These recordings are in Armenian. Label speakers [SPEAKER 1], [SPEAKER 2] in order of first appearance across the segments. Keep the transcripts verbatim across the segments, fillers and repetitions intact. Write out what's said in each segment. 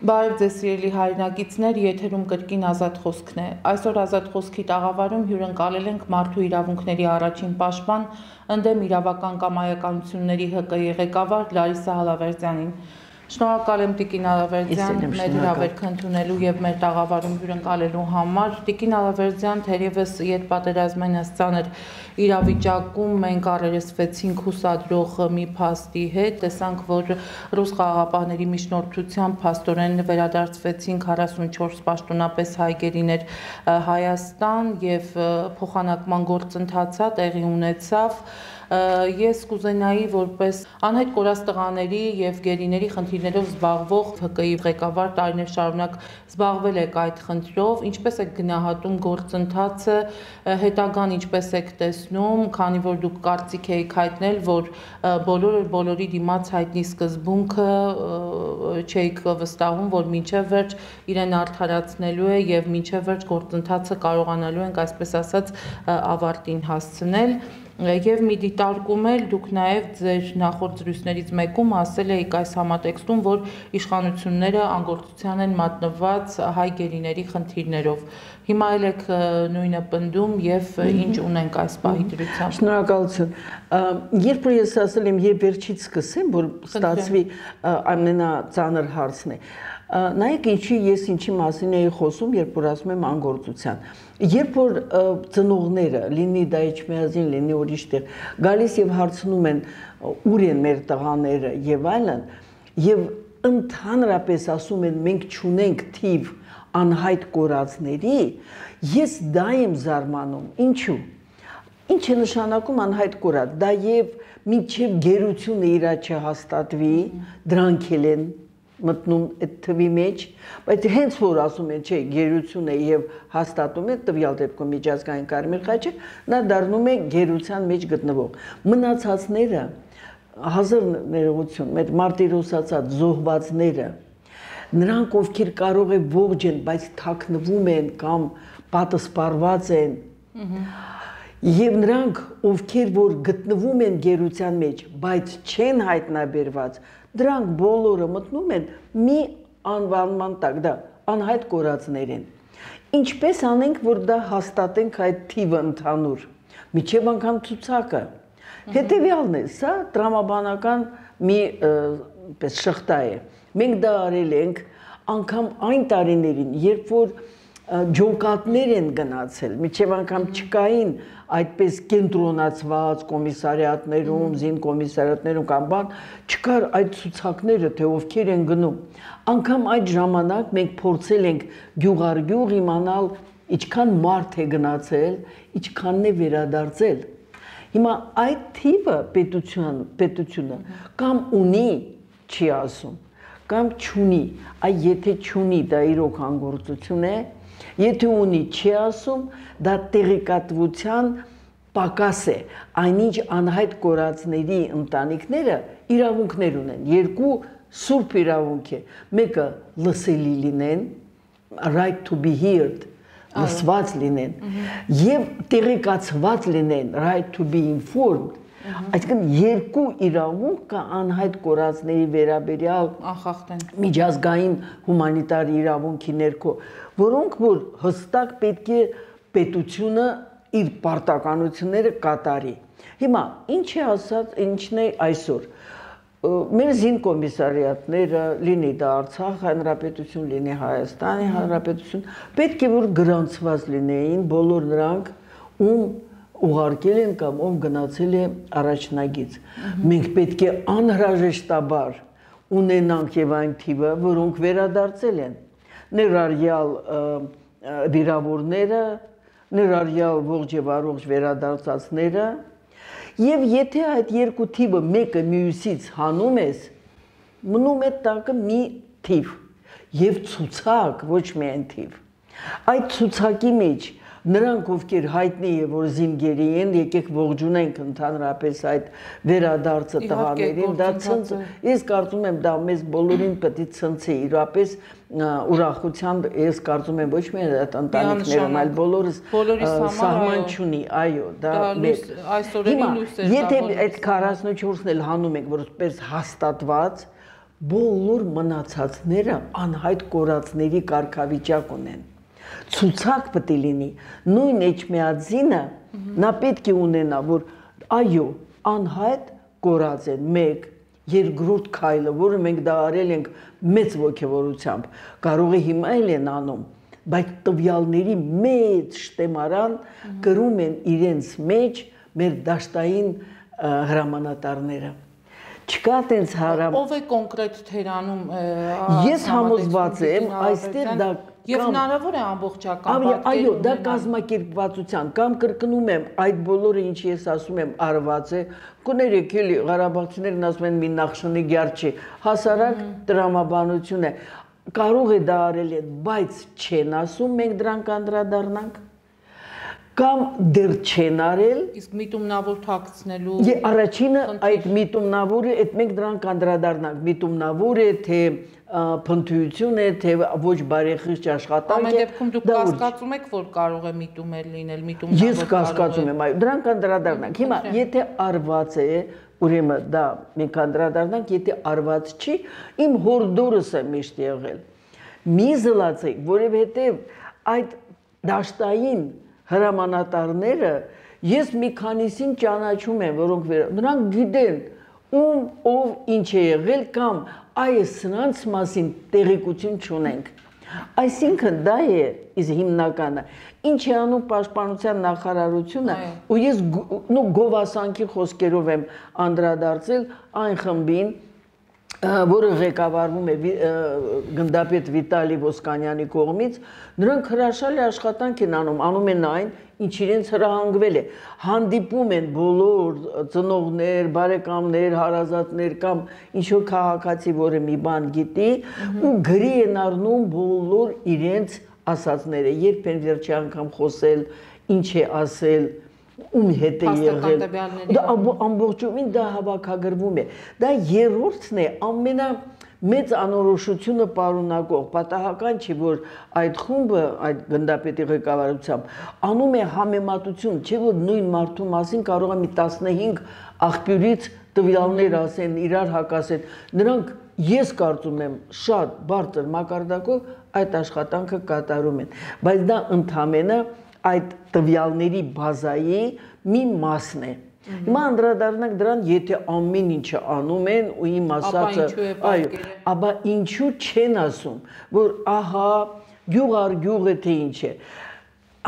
[SPEAKER 1] Բարև ձեզ սիրելի հայրենակիցներ, եթերում կրկին ազատ խոսքն է։ Այսօր ազատ խոսքի տաղավարում հյուրընկալել ենք մարդու իրավունքների առաջին պաշտպան, ընդդեմ իրավական կամայականությունների Հ Կ ղեկավար Լարիսա Ալավերդյանին։ Շնորհակալ եմ Տիկին Ալավերդյան, մեր հրավերքը ընդունելու եւ մեր տաղավարում հյուրընկալելու համար։ Տիկին Ալավերդյան, թերևս յետպատերազմային ծանր իրավիճակում մենք առերեսվեցինք հուսադրող մի փաստի հետ, տեսանք, որ ռուս խաղաղապահների միջնորդությամբ փաստորեն վերադարձվեցին քառասունչորս պաշտոնապես հայ գերիներ Հայաստան եւ փոխանակման գործընթացը տեղի ունեցավ։ Ես կուզենայի որպես անհայտ կորած տղաների եւ գերիների խնդիրներով զբաղվող Հ Կ-ի ղեկավար տարիներ շարունակ զբաղվել եք այդ խնդրով, ինչպես եք գնահատում գործընթացը, հետագան ինչպես եք տեսնում, քանի որ դուք կարծիք եք հայտնել, որ բոլորը բոլորի դիմաց հայտնի սկզբունքը չէիք վստահում, որ մինչև վերջ իրեն արդարացնելու է եւ մինչև վերջ գործընթացը կարողանալու ենք, այսպես ասած, ավարտին հասցնել։ Եվ մի դիտարկում էլ դուք նաև ձեր նախորդ զրույցներից մեկում ասել եք այս համատեքստում, որ իշխանությունները անգործության են մատնված հայ գերիների խնդիրներով։ Հիմա էլ եք նույնը պնդում եւ ինչ ունենք այս պահի դրությամբ։
[SPEAKER 2] Շնորհակալություն։ Երբ որ ես ասել եմ, երբ վերջից սկսեմ, որ ստացվի ամենածանր հարցն է։ Նայեք ինչի ես ինչի մասին էի խոսում, երբ որ ասում եմ անգործության։ Երբ որ ծնողները, լինի դա Էջմիածին, լինի ուրիշ տեղ, գալիս եւ հարցնում են ուր են մեր տղաները եւ այլն, եւ ընդհանրապես ասում են մենք չունենք թիվ անհայտ կորածների, ես դա եմ զարմանում։ Ինչու՞։ Ինչ է նշանակում անհայտ կորած։ Դա եւ մինչեւ գերությունը իրա չհաստատվի, դրանք են մտնում այդ թվի մեջ, բայց հենց որ ասում են, չէ, գերություն է եւ հաստատում է տվյալ դեպքում միջազգային Կարմիր խաչը, նա դառնում է գերության մեջ գտնվող։ Մնացածները հազար ներողություն, մեր մարտիրոս ասած զոհվածները, նրանք ովքեր կարող է ողջ են, բայց թաքնվում են կամ պատասպարված են, եւ նրանք ովքեր որ գտնվում են գերության մեջ, բայց չեն հայտնաբերված, դրանք բոլորը մտնում են մի անվանման տակ, դա անհայտ կորածներ են։ Ինչպես անենք, որ դա հաստատենք այդ թիվը ընդհանուր, միջև անգամ ցուցակը։ Հետևյալն է, սա տրամաբանական մի պես շղթա է։ Մենք դա արել ենք անգամ այն տարիներին, երբ որ ջոկատներ են գնացել, միջև անգամ չկային այդպես կենտրոնացված կոմիսարիատներում, զին կոմիսարիատներում կամ բան, չկար այդ ցուցակները, թե ովքեր են գնում։ Անգամ այդ ժամանակ մենք փորձել ենք գյուղ առ գյուղ իմանալ ինչքան մարդ է գնացել, ինչքանն է վերադարձել։ Հիմա այդ թիվը պետություն, պետությունը կամ ունի, չի ասում, կամ չունի, այ եթե չունի, դա իրոք անգործություն է, եթե ունի, չի ասում, դա տեղեկատվության պակաս է, այնինչ անհայտ կորածների ընտանիքները իրավունքներ ունեն, երկու սուրբ իրավունք է, մեկը լսելի լինեն, right to be heard, լսված լինեն, եւ տեղեկացված լինեն, right to be informed, այսինքն երկու իրավունք կա անհայտ կորածների վերաբերյալ միջազգային հումանիտար իրավունքի ներքո, որոնք որ հստակ պետք է պետությունը իր պարտականությունները կատարի։ Հիմա ինչ է ասած, ինչն է այսօր։ Մեր զին կոմիսարիատները, լինի դա Արցախ հանրապետություն, լինի Հայաստանի հանրապետություն, պետք է որ գրանցված լինեին բոլոր նրանք, ում ուղարկել են կամ ով գնացել է առաջնագից։ Մենք պետք է անհրաժեշտաբար ունենանք եւ այն թիվը, որոնք վերադարձել են, ներառյալ վիրավորները, ներառյալ ողջ եւ առողջ վերադարձածները, եւ եթե այդ երկու թիվը մեկը մյուսից հանում ես, մնում է տակը մի թիվ եւ ցուցակ, ոչ միայն թիվ։ Այդ ցուցակի մեջ նրանք ովքեր հայտնի է որ զինգերի են, եկեք ողջունենք ընդհանրապես այդ վերադարձը տղաներին, դա ցնց, ես կարծում եմ դա մեզ բոլորին պետք է ցնցի, իրապես ուրախությամբ ես կարծում եմ ոչ միայն այդ ընտանիքներում, այլ բոլորս սահման չունի, այո, դա
[SPEAKER 1] այսօրերի լույս է։
[SPEAKER 2] Եթե այդ քառասունչորսն էլ հանում ենք որպես հաստատված, բոլոր մնացածները անհայտ կորածների կարգավիճակ ունեն։ Ցուցակ պետք է լինի, նույն Էջմիածինը նա պետք է ունենա, որ այո, անհայտ կորած են, մեկ, երկրորդ քայլը, որը մենք դա արել ենք մեծ ոգևորությամբ, կարող է հիմա էլ են անում, բայց տվյալների մեծ շտեմարան կրում են իրենց մեջ մեր դաշտային հրամանատարները։ Չկա տենց հարամ։
[SPEAKER 1] Ով է կոնկրետ թերանում։
[SPEAKER 2] Ես համոզված եմ, այստեղ դա
[SPEAKER 1] եւ հնարավոր է ամբողջական պատկեր։
[SPEAKER 2] Այո, դա կազմակերպվածության կամ կրկնում եմ, այդ բոլորը ինչ ես ասում եմ արված է։ Կներեք էլի Ղարաբաղցիներն ասում են մի նախշնի գյարչի, հասարակ տրամաբանություն է։ Կարող է դա արել են, բայց չեն ասում, մենք դրանք անդրադառնանք։ Կամ դեռ չեն արել։
[SPEAKER 1] Իսկ միտումնավոր թաքցնելու։
[SPEAKER 2] Եվ առաջինը այդ միտումնավորը, այդ մենք դրանք անդրադառնանք, միտումնավոր է, թե փնթություն է, թե ոչ բարեխիղճ աշխատանք է։
[SPEAKER 1] Ամեն դեպքում դուք կասկածում եք, որ կարող է միտումել լինել, միտումնավոր։
[SPEAKER 2] Ես կասկածում եմ, այո, դրանք անդրադառնանք։ Հիմա եթե արված է, ուրեմն դա մենք անդրադառնանք, եթե արված չի, իմ հորդորս է միշտ եղել։ Մի զլացեք, որովհետև այդ դաշտային հրամանատարները ես մի քանիսին ճանաչում եմ, որոնք նրանք գիտեն ում ով ինչ է եղել կամ այս սրանց մասին տեղեկություն չունենք։ Այսինքն դա է իզ հիմնականը։ Ինչ է անում պաշտպանության նախարարությունը, ու ես նո գովասանքի խոսքերով եմ անդրադարձել այն խմբին, որը ղեկավարվում է գնդապետ Վիտալի Ոսկանյանի կողմից, նրանք հրաշալի աշխատանք են անում, անում են այն, ինչ իրենց հրահանգվել է, հանդիպում են բոլոր ծնողներ, բարեկամներ, հարազատներ կամ ինչ-որ քաղաքացի, որը մի բան գիտի, ու գրի են առնում բոլոր իրենց ասածները, երբ են վերջի անգամ խոսել, ինչ է ասել, ում հետ է եղել, դա ամբողջովին դա հավաքագրվում է, դա երրորդն է, ամենա մեծ անորոշությունը պարունակող, պատահական չի, որ այդ խումբը, այդ գնդապետի ղեկավարությամբ անում է համեմատություն, չէ որ նույն մարդու մասին կարող է մի տասնհինգ աղբյուրից տվյալներ ասեն, իրար հակասեն, նրանք ես կարծում եմ շատ բարձր մակարդակով այդ աշխատանքը կատարում են, բայց դա ընդհանրապես այդ տվյալների բազայի մի մասն է։ Հիմա անդրադառնանք դրան, եթե ամեն ինչը անում են ու իմ ասածը, այո, ապա ինչու չեն ասում, որ ահա գյուղ առ գյուղ է թե ինչ է։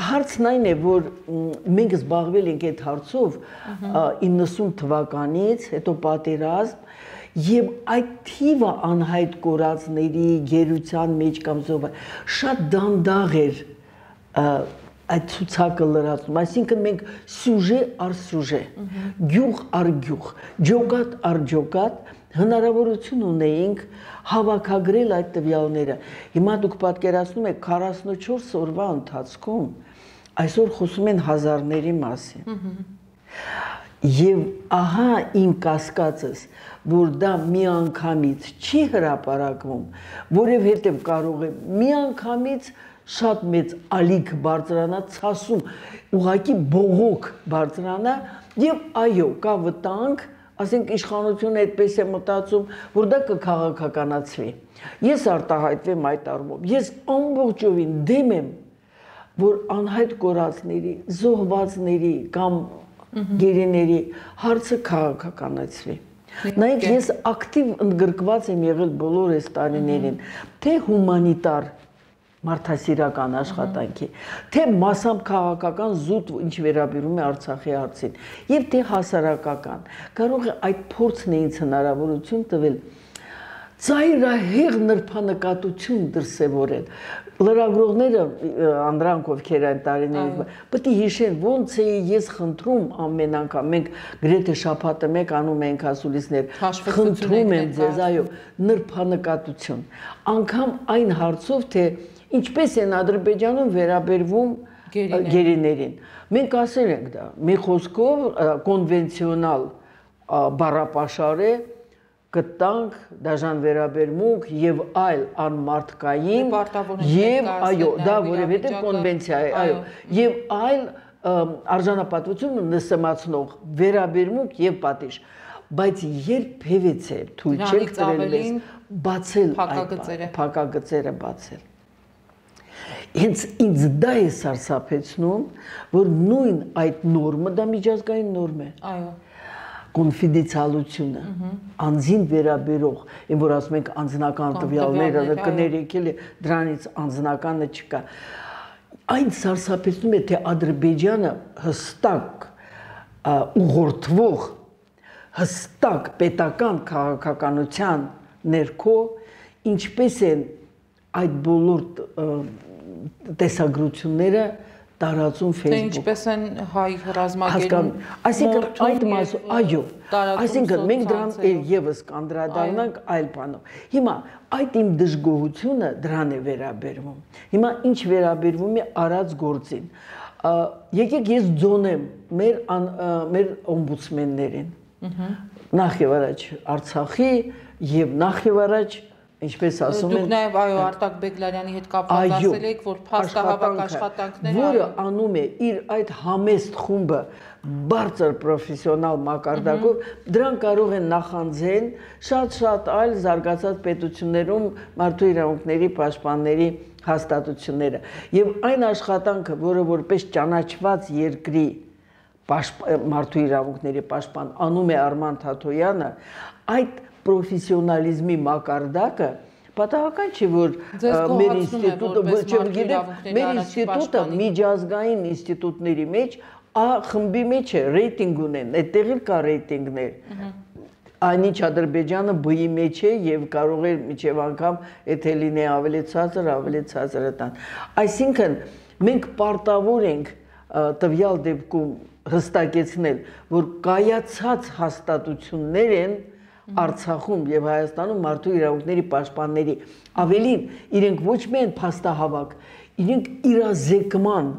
[SPEAKER 2] Հարցն այն է, որ մենք զբաղվել ենք այդ հարցով իննսուն թվականից, հետո պատերազմ, եւ այդ թիվը անհայտ կորածների գերության մեջ կամ զոհ շատ դանդաղ էր այդ ցուցակը լրացնում, այսինքն մենք սյուժե առ սյուժե, գյուղ առ գյուղ, ջոկատ առ ջոկատ հնարավորություն ունեինք հավաքագրել այդ տվյալները։ Հիմա դուք պատկերացնում եք քառասունչորս օրվա ընթացքում այսօր խոսում են հազարների մասին։ Եվ ահա իմ կասկածս, որ դա միանգամից չի հրապարակվում, որովհետև կարող է միանգամից շատ մեծ ալիք բարձրանա, ցասում, ուղղակի բողոք բարձրանա եւ այո, կա վտանգ, ասենք իշխանությունը այդպես է մտածում, որ դա կքաղաքականացվի։ Ես արտահայտվեմ այդ առումով։ Ես ամբողջովին դեմ եմ, որ անհայտ կորածների, զոհվածների կամ գերիների հարցը քաղաքականացվի։ Նայեք, ես ակտիվ ընդգրկված եմ եղել բոլոր այս տարիներին, թե հումանիտար մարդասիրական աշխատանքի, թե մասամբ քաղաքական զուտ, ինչ վերաբերում է Արցախի հարցին, եւ թե հասարակական։ Կարող է այդ փորձն է ինձ հնարավորություն տվել ծայրահեղ նրբանկատություն դրսևորել։ Լրագրողները, անդրանք ովքեր այն տարիներին, պետք է հիշեն, ոնց է ես խնդրում ամեն անգամ, մենք գրեթե շաբաթը մեկ անում ենք ասուլիսներ, խնդրում եմ ձեզ, այո, նրբանկատություն։ Անգամ այն հարցով, թե ինչպես են Ադրբեջանում վերաբերվում գերիներին։ Մենք ասել ենք դա, մի խոսքով կոնվենցիոնալ բառապաշար է, կտանք, դաժան վերաբերմունք եւ այլ անմարդկային եւ այո, դա որովհետեւ կոնվենցիա է, այո, եւ այլ արժանապատվություն նսեմացնող վերաբերմունք եւ պատիժ, բայց երբևիցե թույլ չենք տվել մեզ բացել
[SPEAKER 1] փակագծերը
[SPEAKER 2] փակագծերը բացել։ Հենց ինձ դա է սարսափեցնում, որ նույն այդ նորմը դա միջազգային նորմ է։
[SPEAKER 1] Այո։
[SPEAKER 2] Կոնֆիդենցիալությունը, անձին վերաբերող, այն որ ասում ենք անձնական տվյալները կներեք էլի, դրանից անձնականը չկա։ Այն սարսափեցնում է, թե Ադրբեջանը հստակ ուղղորդվող, հստակ պետական քաղաքականության ներքո ինչպես են այդ բոլոր տեսագրությունները տարածում Facebook։
[SPEAKER 1] Թե ինչպես են հայ ռազմագերում,
[SPEAKER 2] այսինքն այդ մասը, այո, այսինքն մենք դրան եւս կանդրադառնանք այլ բանով։ Հիմա այդ իմ դժգոհությունը դրան է վերաբերվում։ Հիմա ինչ վերաբերվում է արած գործին։ Եկեք ես ձոնեմ մեր մեր օմբուդսմեններին։ Նախ եւ առաջ Արցախի եւ նախ եւ առաջ ինչպես ասում են,
[SPEAKER 1] դուք նաև այո Արտակ Բեգլարյանի հետ կապված ասել եք, որ փաստահավաք աշխատանքները,
[SPEAKER 2] որը անում է իր այդ համեստ խումբը բարձր պրոֆեսիոնալ մակարդակով, դրան կարող են նախանձեն շատ-շատ այլ զարգացած պետություններում մարդու իրավունքների պաշտպանների հաստատությունները։ Եվ այն աշխատանքը, որը որպես ճանաչված երկրի մարդու իրավունքների պաշտպան անում է Արման Թաթոյանը, այդ պրոֆեսիոնալիզմի մակարդակը պատահական չի, որ մեր ինստիտուտը, մեր ինստիտուտը միջազգային ինստիտուտների մեջ խմբի մեջ է, ռեյտինգ ունեն, այդտեղ էլ կա ռեյտինգներ։ Այնինչ Ադրբեջանը բի մեջ է եւ կարող է միջև անգամ եթե լինի ավելի ցածր, ավելի ցածր տան։ Այսինքն մենք պարտավոր ենք տվյալ դեպքում հստակեցնել, որ կայացած հաստատություններ են Արցախում եւ Հայաստանում մարդու իրավունքների պաշտպանների, ավելին իրենք ոչ միայն փաստահավաք, իրենք իրազեկման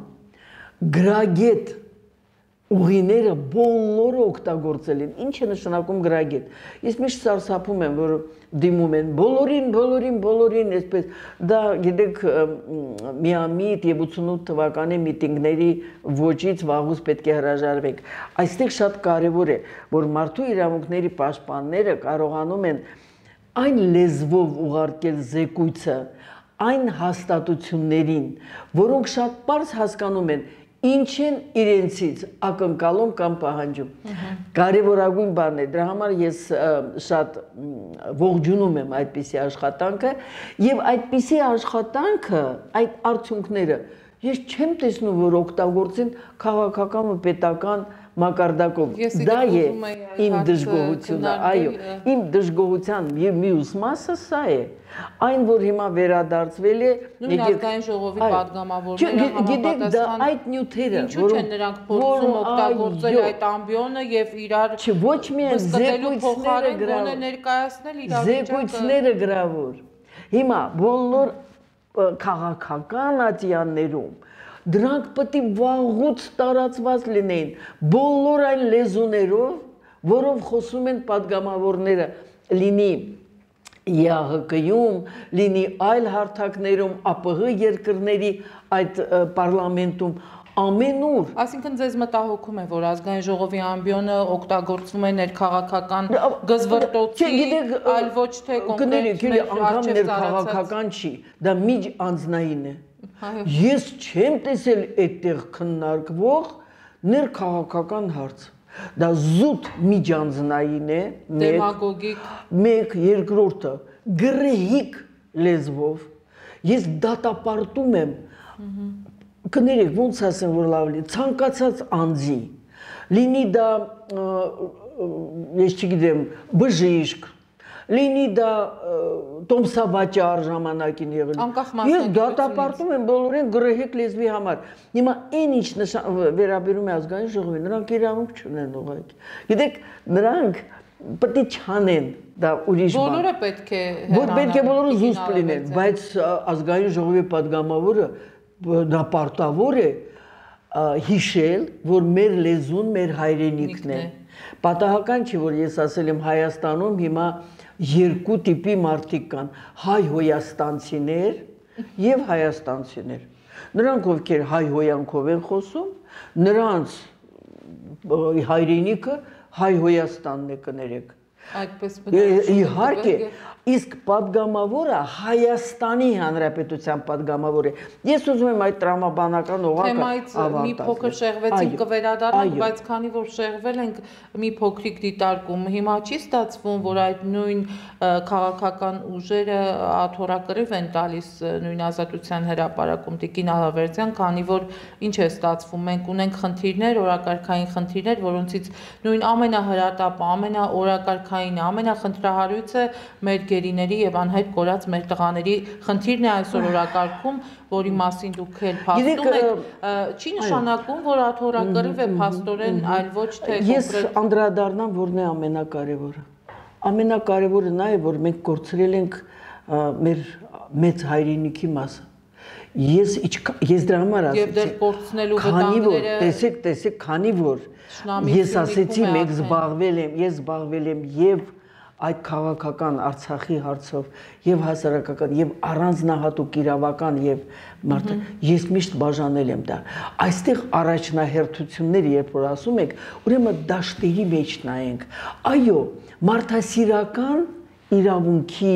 [SPEAKER 2] գրագետ ուղիները բոլորը օգտագործել են։ Ինչ է նշանակում գրագետ։ Ես միշտ սարսափում եմ, որ դիմում են բոլորին, բոլորին, բոլորին, այսպես դա գիտեք միամիտ եւ ութսունութ թվականի միտինգների ոճից վաղուց պետք է հրաժարվենք։ Այստեղ շատ կարեւոր է, որ մարդու իրավունքների պաշտպանները կարողանում են այն լեզվով ուղարկել զեկույցը այն հաստատություններին, որոնք շատ պարզ հասկանում են ինչ են իրենցից ակնկալում կամ պահանջում։ Կարևորագույն բանն է, դրա համար ես շատ ողջունում եմ այդպիսի աշխատանքը եւ այդպիսի աշխատանքը, այդ արդյունքները ես չեմ տեսնում, որ օգտագործեն քաղաքական ու պետական մակարդակով։ Դա է իմ դժգոհությունը, այո, իմ դժգոհության եւ մյուս մասը սա է։ Այն որ հիմա վերադարձվել է,
[SPEAKER 1] Ազգային ժողովի պատգամավորները համապատասխան
[SPEAKER 2] այդ նյութերը,
[SPEAKER 1] ինչու չեն նրանք փորձում օգտագործել այդ ամբիոնը եւ իրար
[SPEAKER 2] ոչ միայն զեկույցները
[SPEAKER 1] գրավել, ներկայացնել իրավիճակը,
[SPEAKER 2] զեկույցները գրավոր։ Հիմա բոլոր քաղաքական ատյաններում դրանք պետք է վաղուց տարածված լինեին բոլոր այն լեզուներով, որով խոսում են պատգամավորները, լինի Է Ա Հ Կ-ում, լինի այլ հարթակներում, Ա Պ Ղ երկրների այդ պարլամենտում, ամենուր։
[SPEAKER 1] Այսինքն ձեզ մտահոգում է, որ ազգային ժողովի ամբիոնը օգտագործվում է ներքաղաքական գզվռտոցի, այլ ոչ թե կոնկրետ
[SPEAKER 2] անգամ ներքաղաքական չի, դա միջ անձնային է։ Ես չեմ տեսել այդտեղ քննարկվող ներքաղաքական հարց։ Դա զուտ միջանձնային է,
[SPEAKER 1] դեմագոգիկ,
[SPEAKER 2] մեկ, երկրորդը գրեհիկ լեզվով։ Ես դատապարտում եմ, կներեք, ոնց ասեմ, որ լավ լինի, ցանկացած անձի, լինի դա, ես չգիտեմ, բժիշկ, լինի դա տոմսավաճառ ժամանակին եղել։ Ես դատապարտում եմ բոլորին գրեհիկ լեզվի համար։ Հիմա այն ինչ վերաբերում է ազգային ժողովին, նրանք իրավունք չունեն ուղղակի։ Գիտեք, նրանք պետք է չանեն դա ուրիշ բան։
[SPEAKER 1] Բոլորը պետք է հեռանան։
[SPEAKER 2] Պետք է բոլորը զուսպ լինեն, բայց ազգային ժողովի պատգամավորը դա պարտավոր է հիշել, որ մեր լեզուն մեր հայրենիքն է։ Պատահական չի, որ ես ասել եմ Հայաստանում հիմա երկու տիպի մարդիկ կան, հայ-հոյաստանցիներ եւ հայաստանցիներ։ Նրանք ովքեր հայ-հոյանքով են խոսում, նրանց հայրենիքը Հայ Հոյաստանն է կներեք։
[SPEAKER 1] Այդպես
[SPEAKER 2] իհարկե, իսկ падգամավորը Հայաստանի Հանրապետության падգամավոր է։ Ես ուզում եմ այդ տրամաբանական օղակը
[SPEAKER 1] ավարտել։ Մի փոքր շեղվեցինք կվերադառնանք, բայց քանի որ շեղվել ենք մի փոքրիկ դիտարկում, հիմա չի ստացվում, որ այդ նույն քաղաքական ուժերը աթոռակռիվ են տալիս նույն Ազատության հրապարակում Տիկին Ալավերդյան, քանի որ ինչ է ստացվում, մենք ունենք խնդիրներ, օրակարգային խնդիրներ, որոնցից նույն ամենահրատապը, ամենաօրակարգային, ամենախնդրահարույցը մեր գերիների եւ անհայտ կորած մեր տղաների խնդիրն է այսօր օրակարգում, որի մասին դուք էլ փաստում եք, չի նշանակում, որ աթոռակռիվ է փաստորեն, այլ ոչ թե
[SPEAKER 2] Ես անդրադառնամ, որն է ամենակարևորը։ Ամենակարևորը նա է, որ մենք կորցրել ենք մեր մեծ հայրենիքի մասը։ Ես ես դրա համար ասեցի։
[SPEAKER 1] Եվ դեռ կորցնելու վտանգները։
[SPEAKER 2] Տեսեք, տեսեք, քանի որ ես ասեցի, մենք զբաղվել եմ, ես զբաղվել եմ եւ այդ քաղաքական Արցախի հարցով եւ հասարակական եւ առանձնահատուկ իրավական եւ մարդը ես միշտ բաժանել եմ դա այստեղ առաջնահերթությունները երբ որ ասում եք ուրեմն դաշտերի մեջ նայենք այո մարդասիրական իրավունքի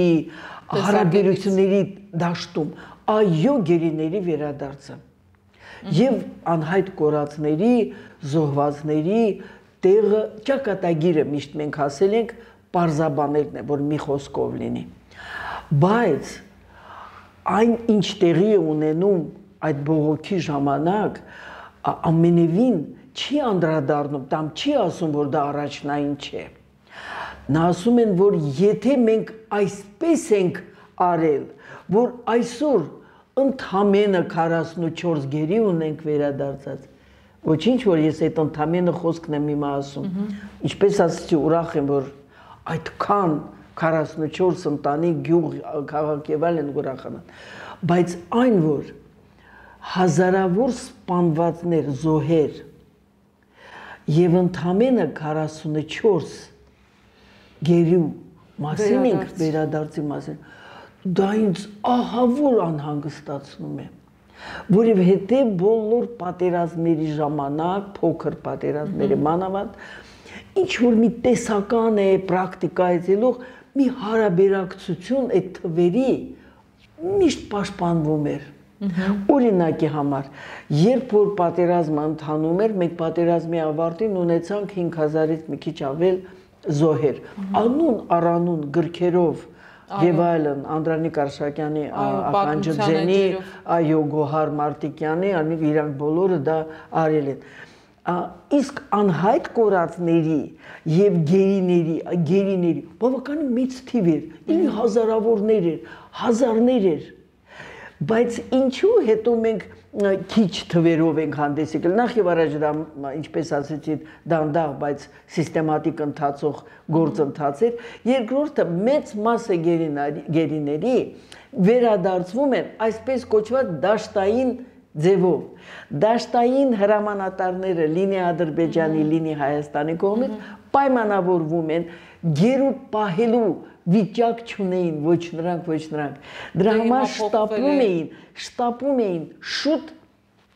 [SPEAKER 2] հարաբերությունների դաշտում այո գերիների վերադարձը եւ անհայտ կորածների զոհվածների տեղը ճակատագիրը միշտ մենք ասել ենք պարզաբաներն է, որ մի խոսքով լինի։ Բայց այն ինչ տեղի է ունենում այդ բողոքի ժամանակ ամենևին չի անդրադառնում, տամ չի ասում, որ դա առաջնային չէ։ Նա ասում են, որ եթե մենք այսպես ենք արել, որ այսօր ընդամենը քառասունուչորս գերի ունենք վերադարձած, ոչինչ, որ ես այդ ընդամենը խոսքն եմ հիմա ասում, ինչպես ասեցի, ուրախ եմ, որ այդքան քառասունուչորս ընտանիք գյուղ քաղաք եւ այլն ուրախանան բայց այն որ հազարավոր սպանվածներ զոհեր եւ ընդամենը քառասունուչորս գերու մասին ենք վերադարձի մասին դա ինձ ահավոր անհանգստացնում է որովհետեւ բոլոր պատերազմների ժամանակ փոքր պատերազմների մանավանդ ինչ որ մի տեսական է պրակտիկայից ելող մի հարաբերակցություն այդ թվերի միշտ պաշտպանվում էր օրինակի համար երբ որ պատերազմը ընթանում էր մենք պատերազմի ավարտին ունեցանք հինգ հազարից մի քիչ ավել զոհեր անուն առանուն գրքերով եւ այլն Անդրանիկ Արշակյանի ականջձենի այո Գոհար Մարտիկյանի իրանք բոլորը դա արել են իսկ անհայտ կորածների եւ գերիների գերիների բավականին մեծ թիվ էր ինի հազարավորներ էր հազարներ էր բայց ինչու հետո մենք քիչ թվերով ենք հանդես եկել նախ եւ առաջ դա ինչպես ասեցի դանդաղ բայց սիստեմատիկ ընթացող գործընթաց էր երկրորդը մեծ մասը գերիների վերադարձվում են այսպես կոչված դաշտային ձևով դաշտային հրամանատարները լինի Ադրբեջանի, լինի Հայաստանի կողմից պայմանավորվում են գերուտ պահելու վիճակ չունեին ոչ նրանք, ոչ նրանք դրա համար շտապում էին, շտապում էին շուտ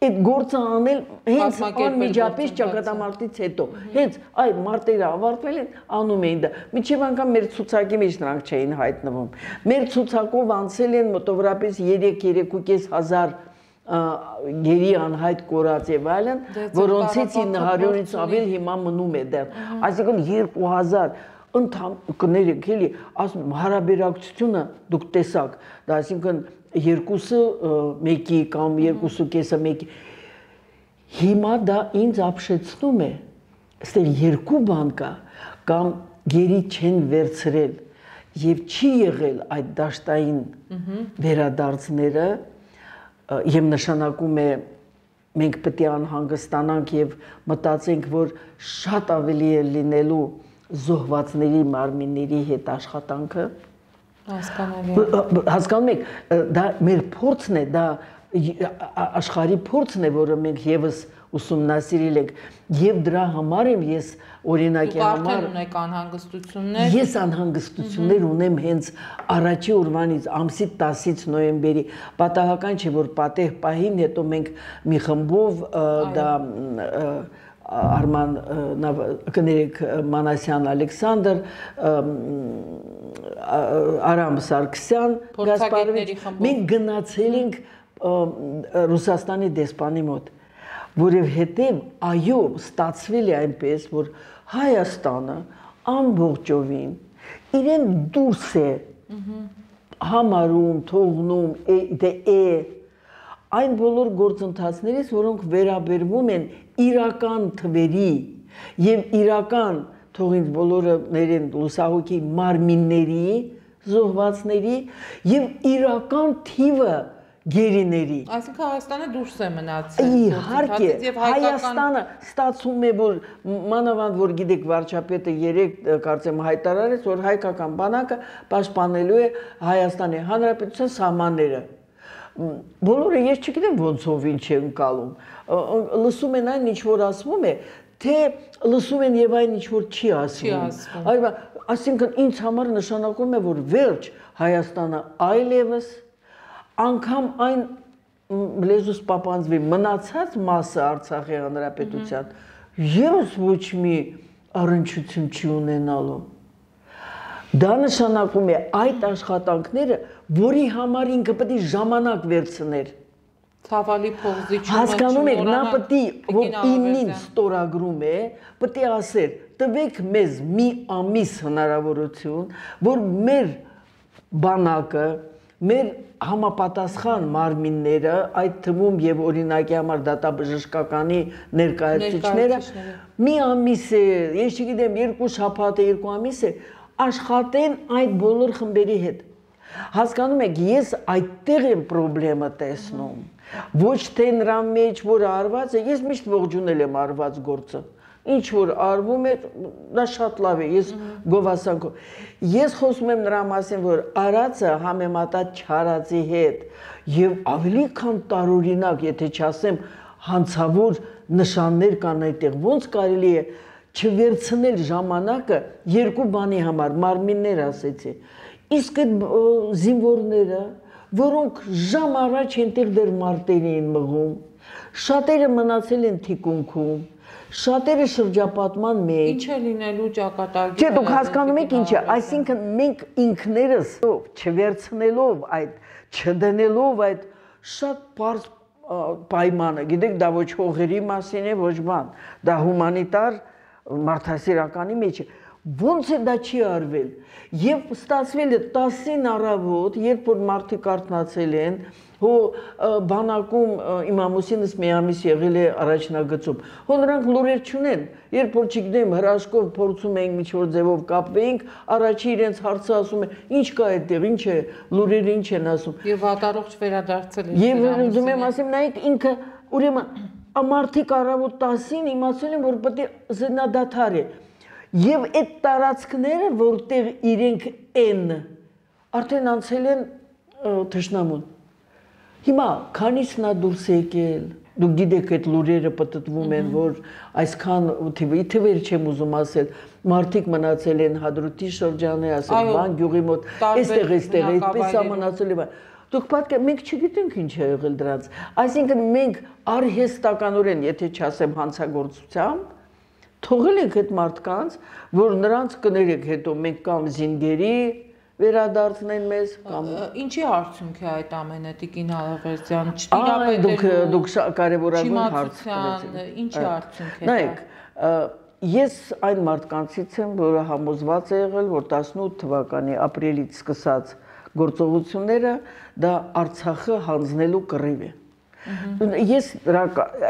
[SPEAKER 2] այդ գործը անել հենց անմիջապես ճակատամարտից հետո հենց այ մարտերը ավարտվել են անում էին դա միջև անգամ մեր ցուցակի մեջ նրանք չէին հայտնվում մեր ցուցակով անցել են մոտավորապես երեք-երեք ու կես հազար գերի անհայտ կորած եւ այլն որոնցից ինը հարյուրից ավել հիմա մնում է դեռ այսինքն երկու հազար ընդհանուր կներեք էլի ասում հարաբերակցությունը դուք տեսաք դա այսինքն երկուսը մեկի կամ երկուսը կեսը մեկի հիմա դա ինձ ապշեցնում է այստեղ երկու բան կա կամ գերի չեն վերցրել եւ չի եղել այդ դաշտային վերադարձները եւ նշանակում է մենք պետք է անհանգստանանք եւ մտածենք որ շատ ավելի է լինելու զոհվածների մարմինների հետ աշխատանքը հասկանալի հասկանում եք դա մեր փորձն է դա աշխարհի փորձն է որը մենք եւս ուսումնասիրել ենք եւ դրա համար եմ ես օրինակի համար
[SPEAKER 1] ունեք անհանգստություններ
[SPEAKER 2] ես անհանգստություններ ունեմ հենց առաջի օրվանից ամսի տասից նոյեմբերի պատահական չէ որ պատեհ պահին հետո մենք մի խմբով դա Արման կներեք Մանասյան Ալեքսանդր, Արամ Սարգսյան, Գասպարովիչ, մենք գնացել ենք Ռուսաստանի դեսպանի մոտ, որովհետև այո, ստացվել է այնպես, որ Հայաստանը ամբողջովին իրեն դուրս է համարում, թողնում, դե է այն բոլոր գործընթացներից, որոնք վերաբերվում են իրական թվերի եւ իրական թող ինձ բոլորը ներեն լուսահոգի մարմինների, զոհվածների եւ իրական թիվը գերիների։
[SPEAKER 1] Այսինքն Հայաստանը դուրս է մնացել։
[SPEAKER 2] Իհարկե, Հայաստանը ստացվում է, որ մանավանդ որ գիտեք վարչապետը երեք կարծեմ հայտարարեց, որ հայկական բանակը պաշտպանելու է Հայաստանի Հանրապետության սահմանները։ Բոլորը ես չգիտեմ ոնցով ինչ է ընկալում, լսում են այն ինչ որ ասվում է, թե լսում են եւ այն ինչ որ չի ասվում։ Այո, այսինքն ինձ համար նշանակում է, որ վերջ Հայաստանը այլևս անգամ այն լեզուս պապանձվի մնացած մասը Արցախի Հանրապետության եւս ոչ մի առնչություն չի ունենալու։ Դա նշանակում է այդ աշխատանքները, որի համար ինքը պետք է ժամանակ վերցներ։
[SPEAKER 1] Ցավալի փողզիչումը
[SPEAKER 2] հասկանում եք, նա պետք է որ ինին ստորագրում է, պետք է ասեր, տվեք մեզ մի ամիս հնարավորություն, որ մեր բանակը, մեր համապատասխան մարմինները, այդ թվում եւ օրինակի համար դատաբժշկականի ներկայացուցիչները մի ամիս է, ես չգիտեմ, երկու շաբաթ է, երկու ամիս է, աշխատեն այդ բոլոր խմբերի հետ։ Հասկանում եք, ես այդտեղ եմ խնդրեմը տեսնում։ Ոչ թե նրա մեջ որ արված է, ես միշտ ողջունել եմ արված գործը։ Ինչ որ արվում է, դա շատ լավ է, ես գովասանքով։ Ես խոսում եմ նրա մասին, որ արածը համեմատած չարածի հետ եւ ավելի քան տարօրինակ, եթե չասեմ, հանցավոր նշաններ կան այդտեղ, ոնց կարելի է չվերցնել ժամանակը երկու բանի համար, մարմիններ ասեցի։ Իսկ այդ զինվորները, որոնք ժամ առաջ այնտեղ դեռ մարտերի են մղում, շատերը մնացել են թիկունքում, շատերը շրջապատման մեջ։
[SPEAKER 1] Ինչ է լինելու ճակատագիրը։
[SPEAKER 2] Չէ, դուք հասկանում եք ինչ է, այսինքն մենք ինքներս չվերցնելով այդ, չդնելով այդ շատ պարզ պայմանը, գիտեք, դա ոչ հողերի մասին է, ոչ բան, դա հումանիտար մարդասիրականի մեջ է։ Ոնց է դա չի արվել։ Եվ ստացվել է տասին առավոտ, երբ որ մարդիկ արթնացել են, հո բանակում իմ ամուսինս մի ամիս եղել է առաջնագծում։ Հո նրանք լուրեր չունեն, երբ որ չգիտեմ հրաշքով փորձում էինք ինչ-որ ձևով կապվեինք, առաջի իրենց հարցը ասում է, ինչ կա այդտեղ, ինչ է, լուրերը ինչ են ասում։
[SPEAKER 1] Եվ վատառողջ վերադարձել են։
[SPEAKER 2] Եվ ուզում եմ ասեմ, նայեք ինքը, ուրեմն մարդիկ առավոտ տասին իմացել են, որ պետք է զնադադար է։ Եվ այդ տարածքները, որտեղ իրենք են, արդեն անցել են թշնամուն։ Հիմա քանից նա դուրս է եկել, դուք գիտեք այդ լուրերը պտտվում են, որ այսքան թվեր չեմ ուզում ասել, մարդիկ մնացել են Հադրութի շրջանի, ասել, բան գյուղի մոտ, այստեղ, այստեղ, այդպես է մնացել է։ Դուք պատկե, մենք չգիտենք ինչ է եղել դրանց։ Այսինքն մենք արհեստականորեն, եթե չասեմ հանցագործությամբ, թողել ենք այդ մարդկանց, որ նրանց կներեք հետո մենք կամ զինգերի վերադարձնեն մեզ կամ
[SPEAKER 1] ինչի արդյունք է այդ ամենը Տիկին Ալավերդյան
[SPEAKER 2] չտիրապետելու դուք կարևորագույն հարց
[SPEAKER 1] ունեցիք ինչի արդյունք է
[SPEAKER 2] նայեք ես այն մարդկանցից եմ որը համոզված է եղել որ տասնութ թվականի ապրիլից սկսած գործողությունները դա Արցախը հանձնելու կռիվ է ես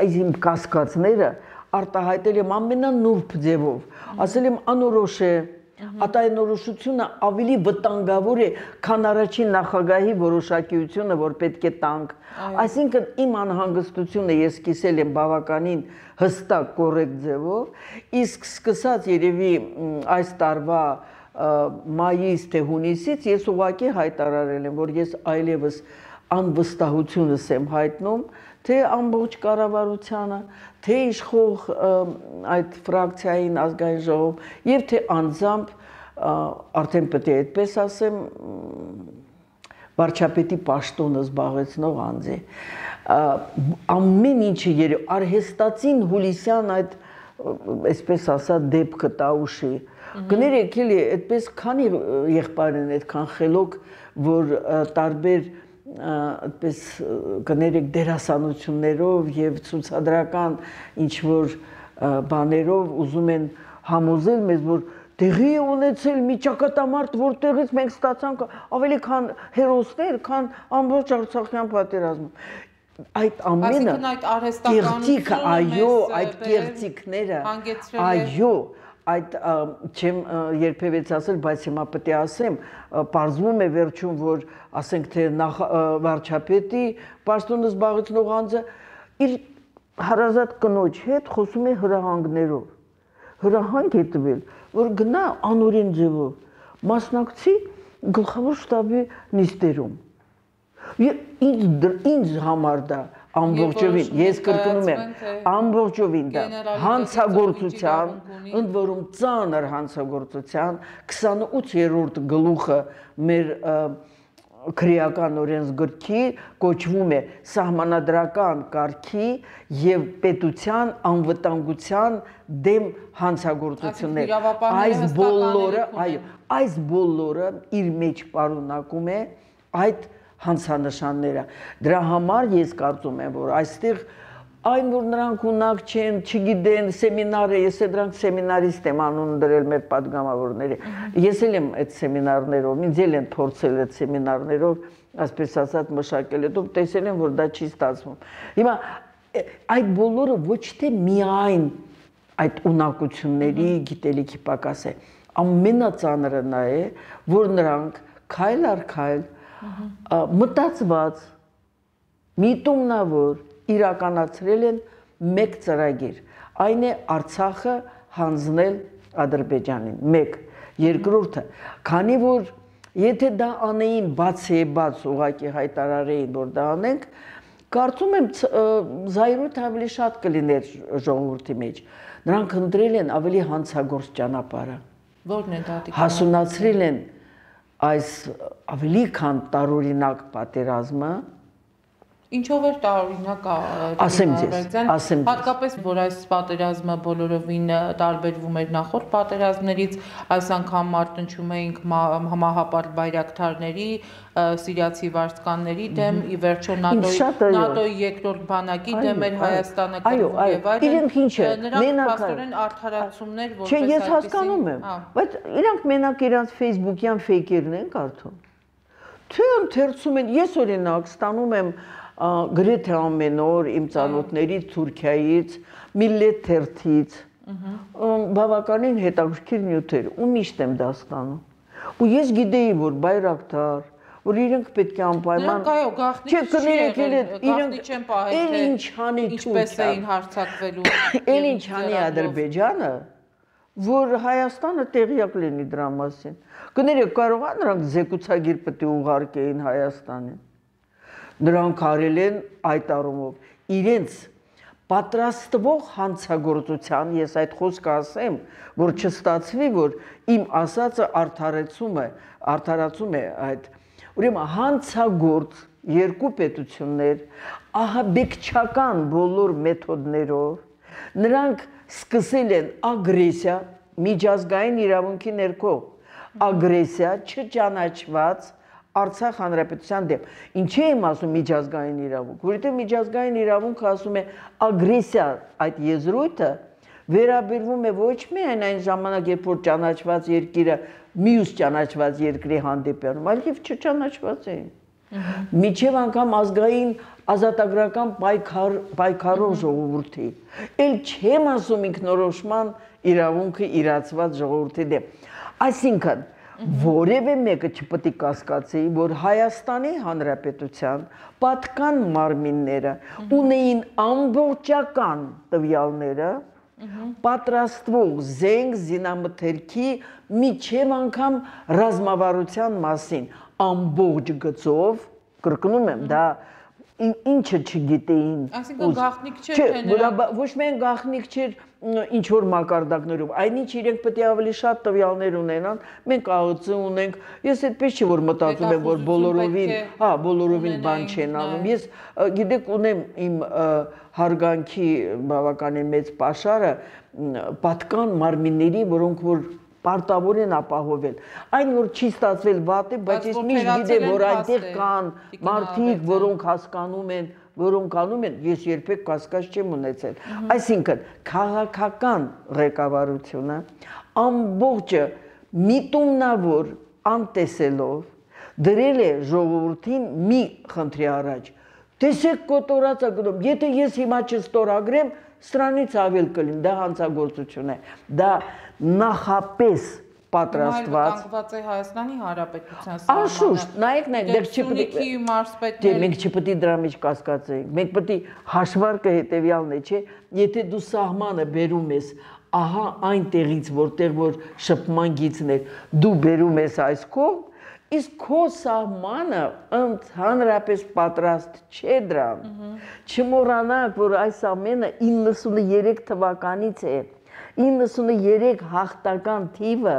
[SPEAKER 2] այս իմ կասկածները արտահայտել եմ ամենանուրբ ձևով ասել եմ անորոշ է Ատայնորոշությունը ավելի վտանգավոր է, քան առաջին նախագահի որոշակիությունը, որ պետք է տանք։ Այսինքն իմ անհանգստությունը ես կիսել եմ բավականին հստակ կոռեկտ ձևով, իսկ սկսած երևի այս տարվա մայիս թե հունիսից ես ուղղակի հայտարարել եմ, որ ես այլևս անվստահությունս եմ հայտնում, թե ամբողջ կառավարությանը, թե իշխող այդ ֆրակցիային ազգային ժողովում, եւ թե անձամբ արդեն պետք է այդպես ասեմ, վարչապետի պաշտոնը զբաղեցնող անձ է։ Ամեն ինչը երբ արհեստացին հուլիսյան այդ այսպես ասած դեպքը տաուշի։ Կներեք էլի, այդպես քանի եղբայր են այդքան խելոք, որ տարբեր այդպես կներեք դերասանություններով եւ ցուցադրական ինչ որ բաներով ուզում են համոզել մեզ, որ տեղի է ունեցել մի ճակատամարտ, որտեղից մենք ստացանք ավելի քան հերոսներ, քան ամբողջ Արցախյան պատերազմում։ Այդ ամենը կեղծիքը, այո, այդ կեղծիքները, այո, այդ չեմ երբևէ ասել, բայց հիմա պետք է ասեմ, պարզվում է վերջում, որ ասենք թե վարչապետի պաշտոնը զբաղեցնող անձը իր հարազատ կնոջ հետ խոսում է հրահանգներով, հրահանգ է տվել, որ գնա անօրեն ձևով մասնակցի գլխավոր շտաբի նիստերում։ Ինձ համար դա ամբողջովին, ես կրկնում եմ, ամբողջովին դա հանցագործության, ընդ որում ծանր հանցագործության քսանութերորդ գլուխը մեր քրեական օրենսգրքի կոչվում է սահմանադրական կարգի եւ պետության անվտանգության դեմ հանցագործություններ։ Այս բոլորը, այո, այս բոլորը իր մեջ պարունակում է այդ հանցանշանները։ Դրա համար ես կարծում եմ, որ այստեղ այն որ նրանք ունակ չեն, չգիտեն, սեմինարը, ես է դրանք սեմինարիստ եմ անուն դրել մեր падգամավորները։ Ես էլ եմ այդ սեմինարներով, ինձ էլ են փորձել այդ սեմինարներով, այսպես ասած մշակել, հետո տեսել եմ, որ դա չի ստացվում։ Հիմա այդ բոլորը ոչ թե միայն այդ ունակությունների գիտելիքի պակաս է, ամենածանրը նա է, որ նրանք քայլ առ քայլ մտածված, միտումնավոր իրականացրել են մեկ ծրագիր, այն է Արցախը հանձնել Ադրբեջանին, մեկ, երկրորդը, քանի որ եթե դա անեին բաց է բաց ուղղակի հայտարարեին, որ դա անենք, կարծում եմ զայրույթ ավելի շատ կլիներ ժողովրդի մեջ, նրանք ընտրել են ավելի հանցագործ ճանապարհը,
[SPEAKER 1] որն է դա
[SPEAKER 2] հասունացրել են այս ավելի քան տարօրինակ պատերազմը,
[SPEAKER 1] Ինչով էր տարօրինակ
[SPEAKER 2] ասեմ ձեզ, ասեմ
[SPEAKER 1] հատկապես որ այս պատերազմը բոլորովին տարբերվում էր նախորդ պատերազմներից, այս անգամ մարտնչում էինք համահապար բայրակթարների, սիրիացի վարձկանների դեմ, ի վերջո նատոյի երկրորդ բանակի դեմ էր Հայաստանը կրվում եւ այլն։ Նրանք փաստորեն արդարացումներ որպես
[SPEAKER 2] այդպեսին։ Չէ, ես հասկանում եմ, բայց իրանք մենակ իրանք Facebook-յան ֆեյքերն են կարդում։ Թե ընթերցում են, ես օրինակ ստանում եմ գրեթե ամեն օր իմ ծանոթներից Թուրքիայից, Միլլետ թերթից, բավականին հետաքրքիր նյութեր, ու միշտ եմ դա ստանում։ Ու ես գիտեի, որ բայրակթար, որ իրենք պետք է անպայման
[SPEAKER 1] Չէ,
[SPEAKER 2] կներեք,
[SPEAKER 1] իրենք չեն պահել, թե ինչպես էին հարձակվելու։
[SPEAKER 2] Էլ ինչ անի Ադրբեջանը, որ Հայաստանը տեղյակ լինի դրա մասին։ Կներեք, կարող է նրանք զեկուցագիր պետք է ուղարկեին Հայաստանին։ Նրանք արել են այդ առումով իրենց պատրաստվող հանցագործության, ես այդ խոսքը ասեմ, որ չստացվի, որ իմ ասածը արդարացում է, արդարացում է այդ, ուրեմն հանցագործ երկու պետություններ, ահաբեկչական բոլոր մեթոդներով, նրանք սկսել են ագրեսիա, միջազգային իրավունքի ներքո, ագրեսիա չճանաչված Արցախ հանրապետության դեմ։ Ինչի եմ ասում միջազգային իրավունք, որովհետև միջազգային իրավունքը ասում է ագրեսիա այդ եզրույթը վերաբերվում է ոչ միայն այն ժամանակ, երբ որ ճանաչված երկիրը մյուս ճանաչված երկրի հանդեպ է անում, այլ եւ չճանաչված էին։ Միջև անգամ ազգային ազատագրական պայքար պայքարող ժողովրդի։ Էլ չեմ ասում ինքնորոշման իրավունքը իրացված ժողովրդի դեմ։ Այսինքն որևէ մեկը չպետք է կասկածի, որ Հայաստանի Հանրապետության պատկան մարմինները ունեին ամբողջական տվյալները պատրաստվող զենք զինամթերքի միջև անգամ ռազմավարության մասին ամբողջ գծով, կրկնում եմ, դա ինչը չգիտեին։
[SPEAKER 1] Այսինքն գաղտնիք չէր թե նրա
[SPEAKER 2] ոչ միայն գաղտնիք չէր ինչ որ մակարդակներով, այնինչ իրենք պետք է ավելի շատ տվյալներ ունենան, մենք ԱՕՑ ունենք, ես այդպես չի որ մտածում եմ, որ բոլորովին, հա, բոլորովին բան չեն անում։ Ես գիտեք ունեմ իմ հարգանքի բավականին մեծ պաշարը պատկան մարմինների, որոնք որ պարտավոր են ապահովել։ Այն որ չի ստացվել վատ է, բայց ես միշտ գիտեմ, որ այնտեղ կան մարդիկ, որոնք հասկանում են, որոնք անում են, ես երբեք կասկած չեմ ունեցել։ Այսինքն, քաղաքական ղեկավարությունը ամբողջը միտումնավոր անտեսելով դրել է ժողովրդին մի խնդրի առաջ։ Տեսեք կոտորած է գնում, եթե ես հիմա չստորագրեմ, սրանից ավել կլինի, դա հանցագործություն է, դա նախապես պատրաստված
[SPEAKER 1] կանգնված է Հայաստանի Հանրապետության
[SPEAKER 2] սահմանը։ Անշուշտ, նայեք, նայեք, դեռ չպետք է մենք չպետք է դրա մեջ կասկածենք, մենք պետք է հաշվարկը հետևյալն է, չէ, եթե դու սահմանը բերում ես, ահա այն տեղից, որտեղ որ շփման գիծն է, դու բերում ես այս կողմ, իսկ քո սահմանը ընդհանրապես պատրաստ չէ դրան։ Չմոռանաք, որ այս ամենը իննսուններեք թվականից է, իննսուններեք հաղթական թիվը,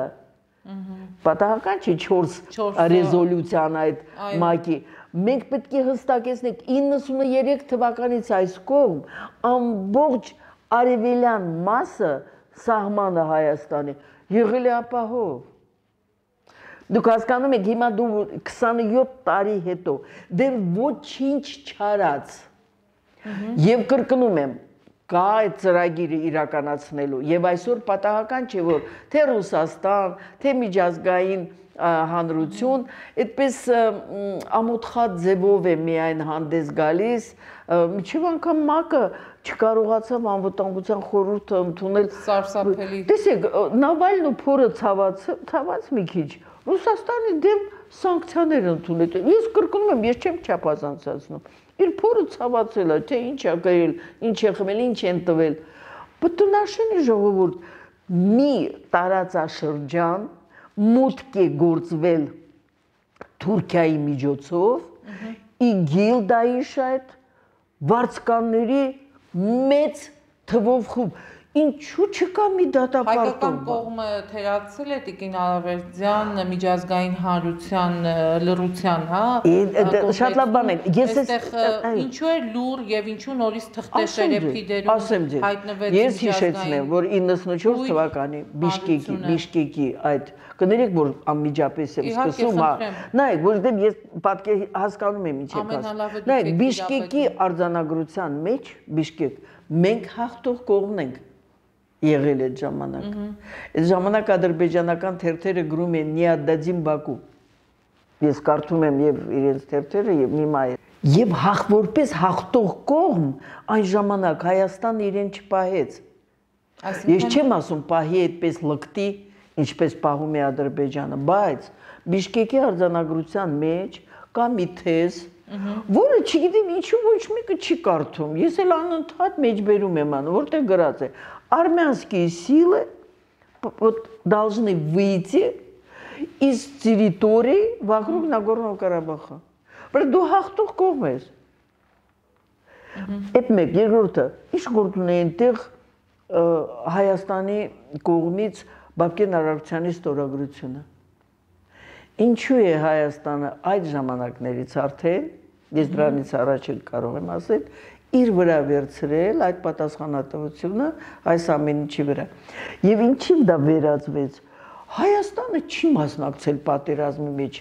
[SPEAKER 2] պատահական չի չորս ռեզոլյուցիան այդ մակի, մենք պետք է հստակեցնենք իննսուններեք թվականից այս կողմ ամբողջ արևելյան մասը սահմանը Հայաստանի եղել է ապահով։ Դուք հասկանում եք, հիմա դու քսանույոթ տարի հետո դեռ ոչինչ չարած եւ կրկնում եմ, կա այդ ծրագիրը իրականացնելու եւ այսօր պատահական չէ որ թե Ռուսաստան, թե միջազգային հանրություն այդպես ամոթխած ձևով է միայն հանդես գալիս, միջև անգամ ՄԱԿ-ը չկարողացավ անվտանգության խորհուրդը ընդունել
[SPEAKER 1] սարսափելի։
[SPEAKER 2] Տեսեք, Նավալն ու փորը ցաված, ցաված մի քիչ Ռուսաստանի դեմ սանկցիաներ ընդունել։ Ես կրկնում եմ, ես չեմ չափազանցացնում։ Իր փորը ցավացել է, թե ինչ է գրել, ինչ է խմել, ինչ են տվել։ Բտնաշենի ժողովուրդ մի տարածաշրջան մուտք է գործվել Թուրքիայի միջոցով, իգիլ Դաիշ այդ վարձկանների մեծ թվով խումբ։ Ինչու չկա մի դատապարտում։
[SPEAKER 1] Հայկական կողմը թերացել է Տիկին Ալավերդյան միջազգային հանրության լռության, հա։
[SPEAKER 2] Շատ լավ բան է։ Ես
[SPEAKER 1] այստեղ ինչու է լուր եւ ինչու նորից թղթեշերեփի դերում հայտնվեց
[SPEAKER 2] Ես հիշեցնեմ, որ իննսունչորս թվականի Բիշկեկի, Բիշկեկի այդ կներեք, որ անմիջապես եմ սկսում, հա։ Նայեք, որովհետեւ ես պատկեր հասկանում եմ ինչ եք ասում։ Նայեք, Բիշկեկի արձանագրության մեջ Բիշկեկ մենք հաղթող կողմն ենք եղել այդ ժամանակ։ Այդ ժամանակ ադրբեջանական թերթերը գրում են «Նիադադին Բաքու»։ Ես կարդում եմ եւ իրենց թերթերը եւ հիմա եւ հաղ որպես հաղթող կողմ այն ժամանակ Հայաստանը իրեն չպահեց։ Ես չեմ ասում պահի այդպես լկտի, ինչպես պահում է Ադրբեջանը, բայց Բիշկեկի արձանագրության մեջ կա մի թեզ, որը չգիտեմ ինչու ոչ մեկը չի կարդում։ Ես էլ անընդհատ մեջբերում եմ անում, որտեղ գրած է. Армянские силы должны выйти из территории вокруг Нагорного Карабаха. Բայց դու հաղթող կողմ ես։ Այդ մեկ, երկրորդը, ինչ գործ ունի այնտեղ Հայաստանի կողմից Բաբկեն Արարքցյանի ստորագրությունը։ Ինչու է Հայաստանը այդ ժամանակներից արդեն, ես դրանից առաջ էլ կարող եմ ասել, իր վրա վերցրել այդ պատասխանատվությունը այս ամեն ինչի վրա։ Եվ ինչի դա վերածվեց։ Հայաստանը չի մասնակցել պատերազմի մեջ,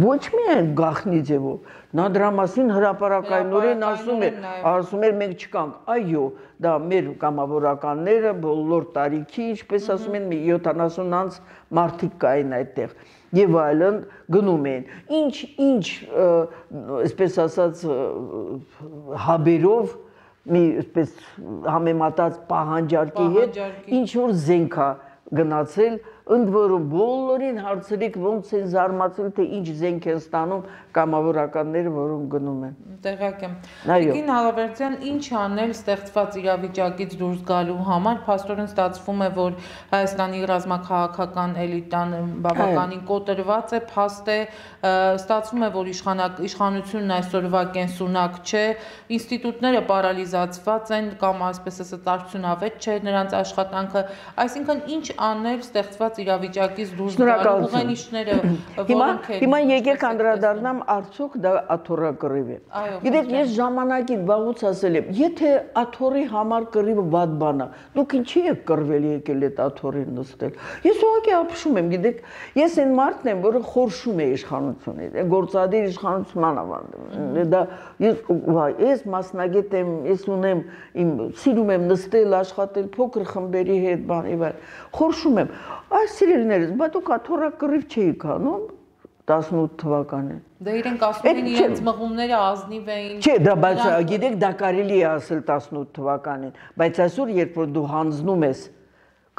[SPEAKER 2] ոչ միայն գաղտնի ձևով, նա դրա մասին հրապարակայնորեն ասում էր, ասում էր մենք չկանք, այո, դա մեր կամավորականները, բոլոր տարիքի, ինչպես ասում են, յոթանասուն անց մարդիկ կային այդտեղ, եւ այլն գնում են, ինչ, ինչ, այսպես ասած, հաբերով, մի այսպես համեմատած պահանջարկի հետ, ինչ որ զենք է գնացել ընդ որում բոլորին հարցրիք ոնց են զարմացել, թե ինչ զենք են ստանում կամավորականները, որոնք գնում են։
[SPEAKER 1] Տեղյակ եմ։ Տիկին Ալավերդյան, ինչ անել ստեղծված իրավիճակից դուրս գալու համար, փաստորեն ստացվում է, որ Հայաստանի ռազմաքաղաքական էլիտան բավականին կոտրված է, փաստ է, ստացվում է, որ իշխանությունն այսօրվա կենսունակ չէ, ինստիտուտները պարալիզացված են կամ այսպես ասած արդյունավետ չէ նրանց աշխատանքը, այսինքն ինչ անել ստեղծված իրավիճակից դուրս գալու ուղենիշները, որոնք են։
[SPEAKER 2] Հիմա եկեք անդրադառնամ արդյոք դա աթոռակռիվ է։ Գիտեք, ես ժամանակին վաղուց ասել եմ, եթե աթոռի համար կռիվը վատ բան է, դուք ինչի եք կռվել եկել այդ աթոռին նստել։ Ես ուղղակի ապշում եմ, գիտեք, ես այն մարդն եմ, որը խորշում է իշխանությունից, գործադիր իշխանության ավանդում։ Դա ես մասնագետ եմ, ես ունեմ իմ սիրում եմ նստել, աշխատել փոքր խմբերի հետ, բան եւ այլ։ Խորշում եմ։ Այս սիրելիներս, բա դուք աթոռակռիվ չէիք անում տասնութ թվականին։
[SPEAKER 1] Դե իրենք ասում են իրենց մղումները ազնիվ էին։
[SPEAKER 2] Չէ, դա բայց գիտեք, դա կարելի է ասել տասնութ թվականին, բայց այսօր երբ որ դու հանձնում ես,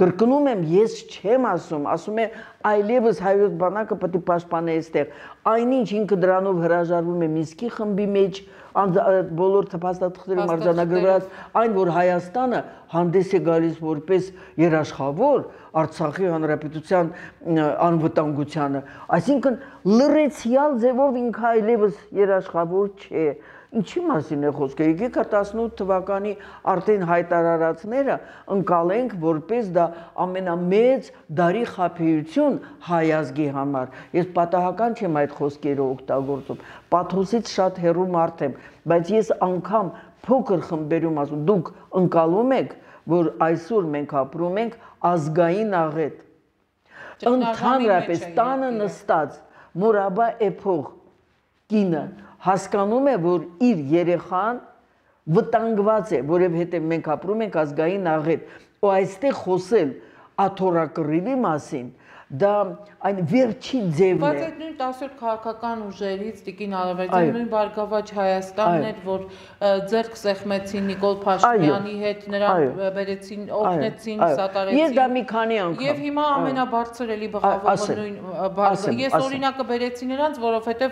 [SPEAKER 2] կրկնում եմ, ես չեմ ասում, ասում է այլևս հայոց բանակը պետք է պաշտպանի այստեղ։ Այնինչ ինքը դրանով հրաժարվում է Մինսկի խմբի մեջ, բոլոր փաստաթղթերում արձանագրված, այն որ Հայաստանը հանդես է գալիս որպես երաշխավոր Արցախի հանրապետության անվտանգությանը, այսինքն լրացիալ ձևով ինքը այլևս երաշխավոր չէ։ Ինչի մասին է խոսքը, եկեք տասնութ թվականի արդեն հայտարարածները ընկալենք, որպես դա ամենամեծ դարի խաբեություն հայ ազգի համար։ Ես պատահական չեմ այդ խոսքերը օգտագործում, պաթոսից շատ հեռու մարդ եմ, բայց ես անգամ փոքր խմբերում ասում, դուք ընկալում եք, որ այսօր մենք ապրում ենք ազգային աղետ։ Ընդհանրապես տանը նստած մորաբա էփող կինը հասկանում է, որ իր երեխան վտանգված է, որովհետև մենք ապրում ենք ազգային աղետ, ու այստեղ խոսել աթոռակռիվի մասին, դա այն վերջի ձևն է։
[SPEAKER 1] Բայց այդ նույն տասնյոթ քաղաքական ուժերից Տիկին Ալավերդյան նույն Բարգավաճ Հայաստանն էր, որ ձեռք սեղմեցին Նիկոլ Փաշինյանի հետ, նրան բերեցին, օգնեցին, սատարեցին։
[SPEAKER 2] Ես դա մի քանի անգամ։
[SPEAKER 1] Եւ հիմա ամենաբարձր էլի բղավողը նույն Բարգավաճ։ Ես օրինակը բերեցի նրանց, որովհետեւ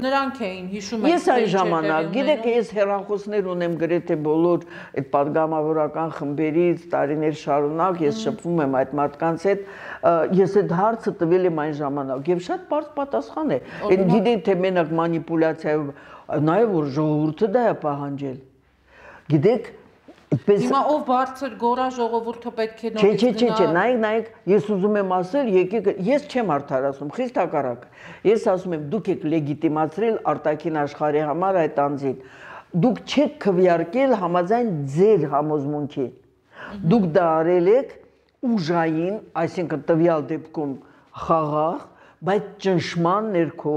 [SPEAKER 1] նրանք էին հիշում են։
[SPEAKER 2] Ես այն ժամանակ, գիտեք, ես հեռախոսներ ունեմ գրեթե բոլոր այդ падգամավորական խմբերից, տարիներ շարունակ ես շփվում եմ այդ մարդկանց հետ, ես այդ հարցը տվել եմ այն ժամանակ եւ շատ բարձ պատասխան է։ Այն գիտեք թե մենակ մանիպուլյացիայով, նաեւ որ ժողովուրդը դա է պահանջել։ Գիտեք, այդպես
[SPEAKER 1] Հիմա ով բարձր գորա ժողովուրդը պետք է
[SPEAKER 2] նորից գնա։ Չէ, չէ, չէ, նայեք, նայեք, ես ուզում եմ ասել, եկեք, ես չեմ արդարացնում, խիստ հակառակ։ Ես ասում եմ, դուք եք լեգիտիմացրել արտաքին աշխարհի համար այդ անձին։ Դուք չեք քվեարկել համաձայն ձեր համոզմունքի։ Դուք դա արել եք ուժային, այսինքն տվյալ դեպքում խաղաղ, բայց ճնշման ներքո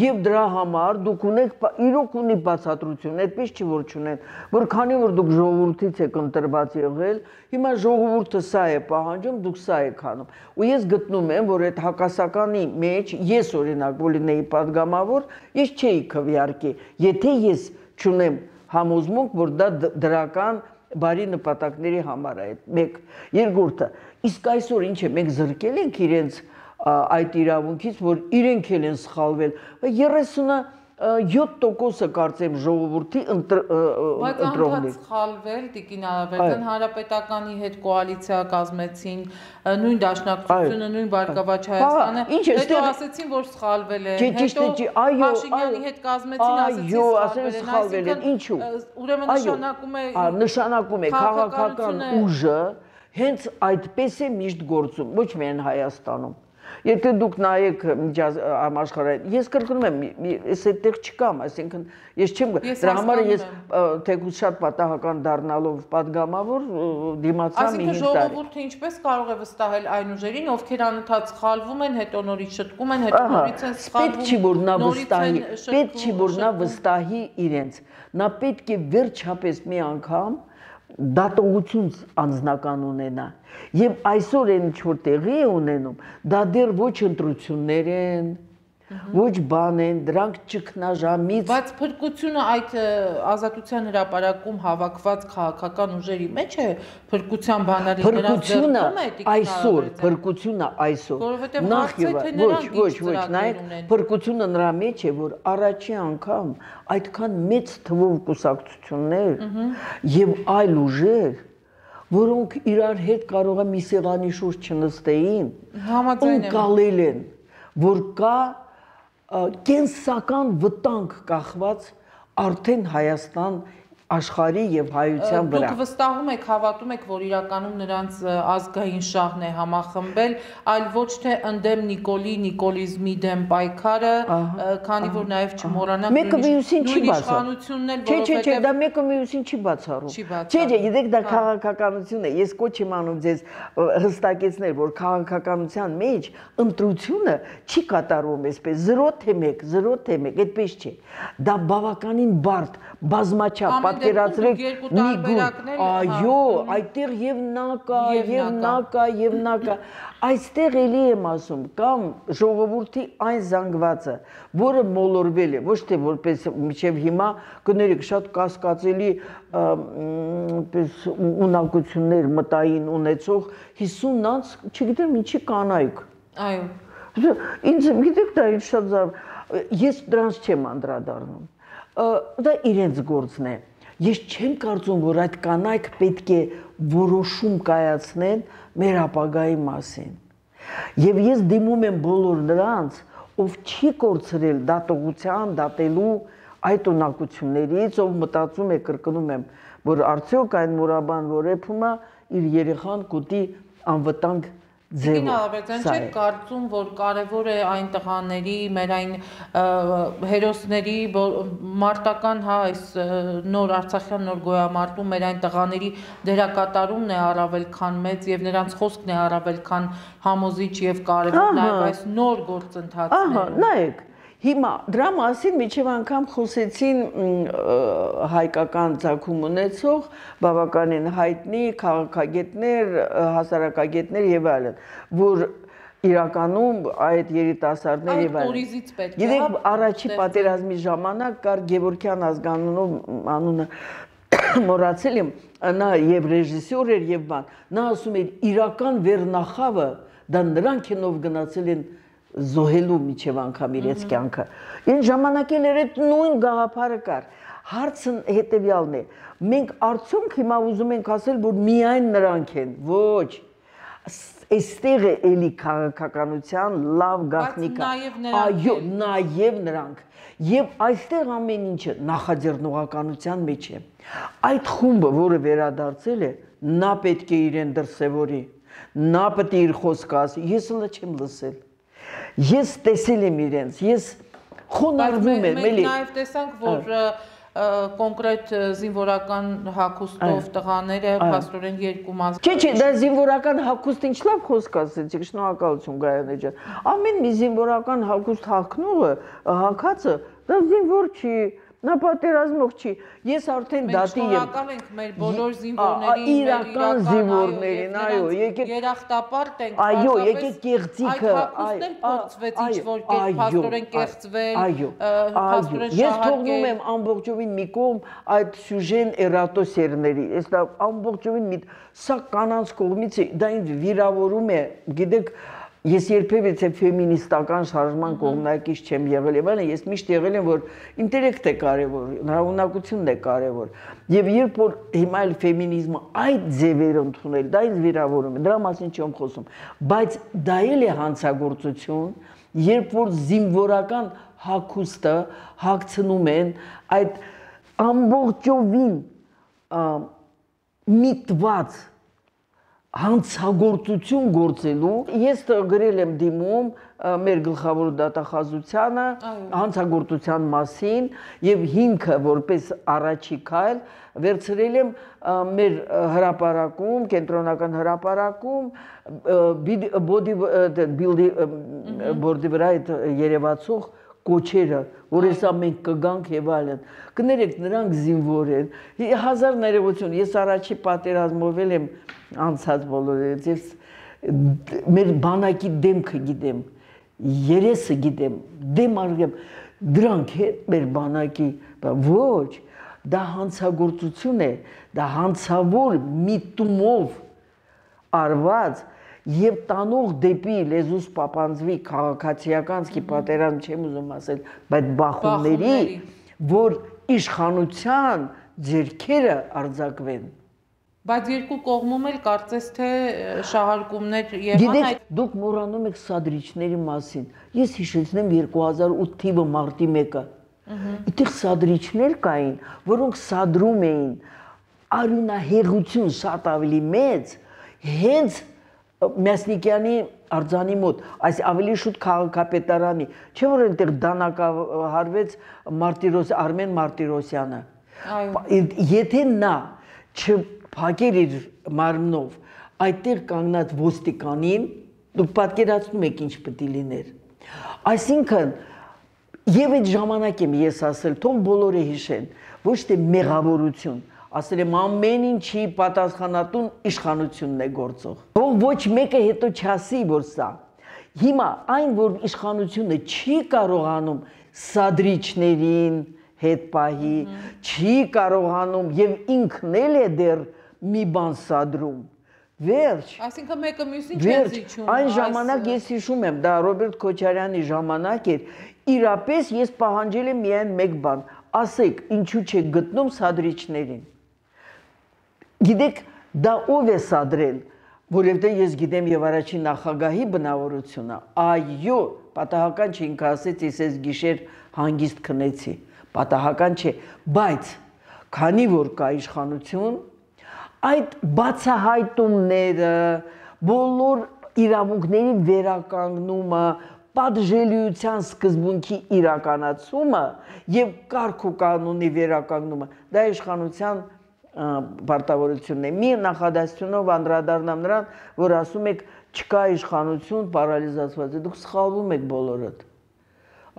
[SPEAKER 2] եւ դրա համար դուք ունեք իրոք ունի բացատրություն, այդպես չի որ չունեն, որ քանի որ դուք ժողովրդից եք ընտրված եղել, հիմա ժողովուրդը սա է պահանջում, դուք սա եք անում։ Ու ես գտնում եմ, որ այդ հակասականի մեջ ես օրինակ Բոլինեի падգամավոր, ես չէի քվեարկի, եթե ես չունեմ համոզմունք, որ դա դրական բարի նպատակների համար է, մեկ, երկրորդը, իսկ այսօր ինչ է, մենք զրկել ենք իրենց այդ իրավունքից, որ իրենք էլ են սխալվել, երեսունյոթ տոկոսը կարծեմ ժողովրդի ընտրողներ։
[SPEAKER 1] Բայց անդադ սխալվել, Տիկին Ալավերդյան, Հանրապետականի հետ կոալիցիա կազմեցին, նույն Դաշնակցությունը, նույն Բարգավաճ Հայաստանը, հետո ասեցին, որ սխալվել է, հետո Փաշինյանի հետ կազմեցին, ասեցին սխալվել են,
[SPEAKER 2] ինչու։
[SPEAKER 1] Ուրեմն նշանակում է
[SPEAKER 2] նշանակում է քաղաքական ուժը հենց այդպես է միշտ գործում, ոչ միայն Հայաստանում։ Եթե դուք նայեք համաշխարհային, ես կրկնում եմ, ես այդտեղ չկամ, այսինքն ես չեմ, դրա համար ես թեկուզ շատ պատահական դառնալով падգամավոր դիմացա մի հինգ տարի։
[SPEAKER 1] Այսինքն ժողովուրդը ինչպես կարող է վստահել այն ուժերին, ովքեր անընդհատ սխալվում են, հետո նորից շտկում են, հետո նորից են սխալվում,
[SPEAKER 2] պետք չի որ նա վստահի իրենց, նա պետք է վերջապես մի անգամ դատողություն անձնական ունենա եւ այսօր այն ինչ որ տեղի է ունենում դա դեռ ոչ ընտրություններ են ոչ բան են, դրանք ճգնաժամից։
[SPEAKER 1] Բայց փրկությունը այդ ազատության հրապարակում հավաքված քաղաքական ուժերի մեջ է փրկության բանալին նրանց ձեռքում է
[SPEAKER 2] այսօր, փրկությունը այսօր։ Նախ եւ ոչ, ոչ, ոչ, նայեք, փրկությունը նրա մեջ է, որ առաջի անգամ այդքան մեծ թվով կուսակցություններ եւ այլ ուժեր, որոնք իրար հետ կարող է մի սեղանի շուրջ չնստեին,
[SPEAKER 1] համաձայն եմ,
[SPEAKER 2] գալել են, որ կա կենսական վտանգ կախված արդեն Հայաստան աշխարհի եւ հայության վրա։
[SPEAKER 1] Դուք վստահում եք, հավատում եք, որ իրականում նրանց ազգային շահն է համախմբել, այլ ոչ թե ընդդեմ Նիկոլի, նիկոլիզմի դեմ պայքարը, քանի որ նաեւ չմոռանանք
[SPEAKER 2] մեկը մյուսին չի
[SPEAKER 1] իշխանությունն էլ,
[SPEAKER 2] որովհետեւ Չէ, չէ, դա մեկը մյուսին չի բացառում։ Չէ, չէ, գիտեք, դա քաղաքականություն է։ Ես կոչ եմ անում ձեզ հստակեցնել, որ քաղաքականության մեջ ընտրությունը չի կատարվում այսպես զրո թե մեկ, զրո թե մեկ, այդպես չէ։ Դա բավականին բարդ, բազմաչափ պատկերացրեք մի գուր, այո, այդտեղ եւ նա կա, եւ նա կա, եւ նա կա, այստեղ էլի եմ ասում, կամ ժողովրդի այն զանգվածը, որը մոլորվել է, ոչ թե որպես մինչև հիմա, կներեք, շատ կասկածելի ունակություններ մտային ունեցող հիսուն անց, չգիտեմ ինչի կանայք։
[SPEAKER 1] Այո։
[SPEAKER 2] Ինձ գիտեք դա ինչ շատ զարմ, ես դրանց չեմ անդրադառնում։ Դա իրենց գործն է։ Ես չեմ կարծում, որ այդ կանայք պետք է որոշում կայացնեն մեր ապագայի մասին։ Եվ ես դիմում եմ բոլոր նրանց, ով չի կորցրել դատողության, դատելու այդ ունակություններից, ով մտածում է, կրկնում եմ, որ արդյոք այն մուրաբան, որ էփում է, իր երեխան կուտի անվտանգ
[SPEAKER 1] Ձևով։ Ալաբերտյան, չեք կարծում, որ կարևոր է այն տղաների, մեր այն հերոսների, մարտական, հա, այս նոր Արցախյան նոր գոյամարտում մեր այն տղաների դերակատարումն է առավել քան մեծ եւ նրանց խոսքն է առավել քան համոզիչ եւ կարևոր նաեւ այս նոր գործընթացներում։
[SPEAKER 2] Ահա, նայեք, հիմա դրա մասին միջև անգամ խոսեցին հայկական ցակում ունեցող բավականին հայտնի քաղաքագետներ, հասարակագետներ եւ այլն, որ իրականում այդ երիտասարդներ եւ այլն։ Գիտեք, առաջի պատերազմի ժամանակ կար Գևորգյան ազգանունով անունը մոռացել եմ, նա եւ ռեժիսոր էր եւ բան, նա ասում էր իրական վերնախավը դա նրանք են ով գնացել են զոհելու միջև անգամ իրենց կյանքը։ Այն ժամանակել էր այդ նույն գաղափարը կար։ Հարցը հետևյալն է։ Մենք արդյոք հիմա ուզում ենք ասել, որ միայն նրանք են։ Ոչ։ Այստեղ է էլի քաղաքականության լավ գաղտնիքը։ Այո, նաև նրանք։ Եվ այստեղ ամեն ինչը նախաձեռնողականության մեջ է։ Այդ խումբը, որը վերադարձել է, նա պետք է իրեն դրսևորի։ Նա պետք է իր խոսքը ասի։ Ես հլը չեմ լսել։ Ես տեսել եմ իրենց, ես խոնարհվում եմ, էլի։
[SPEAKER 1] Մենք նաև տեսանք, որ կոնկրետ զինվորական հագուստով տղաները փաստորեն երկու մաս։
[SPEAKER 2] Չէ, չէ, դա զինվորական հագուստ ինչ լավ խոսք ասեցիք, շնորհակալություն Գայանե ջան։ Ամեն մի զինվորական հագուստ հագնողը, հագածը, դա զինվոր չի, նա պատերազմող չի։ Ես արդեն դատի եմ։
[SPEAKER 1] Մենք շնորհակալ ենք մեր բոլոր զինվորներին,
[SPEAKER 2] իրական զինվորներին, այո, եկեք
[SPEAKER 1] երախտապարտ ենք,
[SPEAKER 2] այո, եկեք կեղծիքը,
[SPEAKER 1] այո, փորձվեց ինչ-որ կերպ փաստորեն կեղծվել, փաստորեն շահարկել։
[SPEAKER 2] Ես թողնում եմ ամբողջովին մի կողմ այդ սյուժեն էրատոսերների, այս դա ամբողջովին մի սա կանանց կողմից է, դա ինձ վիրավորում է, գիտեք, ես երբևէ ֆեմինիստական շարժման կողմնակից չեմ եղել եւ այլն, ես միշտ եղել եմ, որ ինտելեկտ է կարեւոր, նրավունակությունն է կարեւոր։ Եվ երբ որ հիմա էլ ֆեմինիզմը այդ ձևեր ընդունել, դա ինձ վիրավորում է, դրա մասին չեմ խոսում, բայց դա էլ է հանցագործություն, երբ որ զինվորական հագուստը հագցնում են այդ ամբողջովին միտված հանցագործություն գործելու, ես գրել եմ դիմում մեր գլխավոր դատախազությանը հանցագործության մասին եւ հիմքը որպես առաջի քայլ վերցրել եմ մեր հրապարակում, կենտրոնական հրապարակում բոդի բիլդի բորդի վրա այդ երևացող կոչերը, որ հեսա մենք կգանք եւ այլն։ Կներեք, նրանք զինվոր են։ Հազար ներողություն, ես առաջի պատերազմով եմ անցած բոլորից, ես մեր բանակի դեմքը գիտեմ, երեսը գիտեմ, դեմ արգեմ, դրանք հետ մեր բանակի, ոչ, դա հանցագործություն է, դա հանցավոր միտումով արված եւ տանող դեպի լեզուս պապանձվի քաղաքացիականցի պատերազմ չեմ ուզում ասել, բայց բախումների, որ իշխանության ձեռքերը արձակվեն։
[SPEAKER 1] Բայց երկու կողմում էլ կարծես թե շահարկումներ եղան։
[SPEAKER 2] Գիտեք, դուք մոռանում եք սադրիչների մասին։ Ես հիշեցնեմ երկու հազար ութ թիվը մարտի մեկը։ Այդտեղ սադրիչներ կային, որոնք սադրում էին արյունահեղություն շատ ավելի մեծ, հենց Մյասնիկյանի արձանի մոտ, այս ավելի շուտ քաղաքապետարանի, չէ՞ որ այնտեղ դանակահարվեց Մարտիրոս Արմեն Մարտիրոսյանը։ Եթե նա չփակեր իր մարմնով այդտեղ կանգնած ոստիկանին, դուք պատկերացնում եք ինչ պետք է լիներ։ Այսինքն եւ այդ ժամանակ եմ ես ասել, թող բոլորը հիշեն, ոչ թե մեղավորություն, ասել եմ ամեն ինչի պատասխանատուն իշխանությունն է գործող։ Թող ոչ մեկը հետո չասի, որ սա։ Հիմա այն, որ իշխանությունը չի կարողանում սադրիչներին հետ պահի, չի կարողանում եւ ինքն էլ է դեռ մի բան սադրում։ Վերջ։
[SPEAKER 1] Այսինքն մեկը մյուսին չեն զիջում։
[SPEAKER 2] Այն ժամանակ ես հիշում եմ, դա Ռոբերտ Քոչարյանի ժամանակ էր, իրապես ես պահանջել եմ միայն մեկ բան, ասեք, ինչու չեք գտնում սադրիչներին։ Գիտեք, դա ով է սադրել, որովհետև ես գիտեմ եւ առաջին նախագահի բնավորությունը, այո, պատահական չէ, ինքը ասեց, ես այս գիշեր հանգիստ քնեցի, պատահական չէ, բայց քանի որ կա իշխանություն, այդ բացահայտումները, բոլոր իրավունքների վերականգնումը, պատժելիության սկզբունքի իրականացումը եւ կարգ ու կանոնի վերականգնումը, դա իշխանության պարտավորությունն է։ Մի նախադասությունով անդրադառնամ նրան, որ ասում եք չկա իշխանություն, պարալիզացված է, դուք սխալվում եք բոլորդ։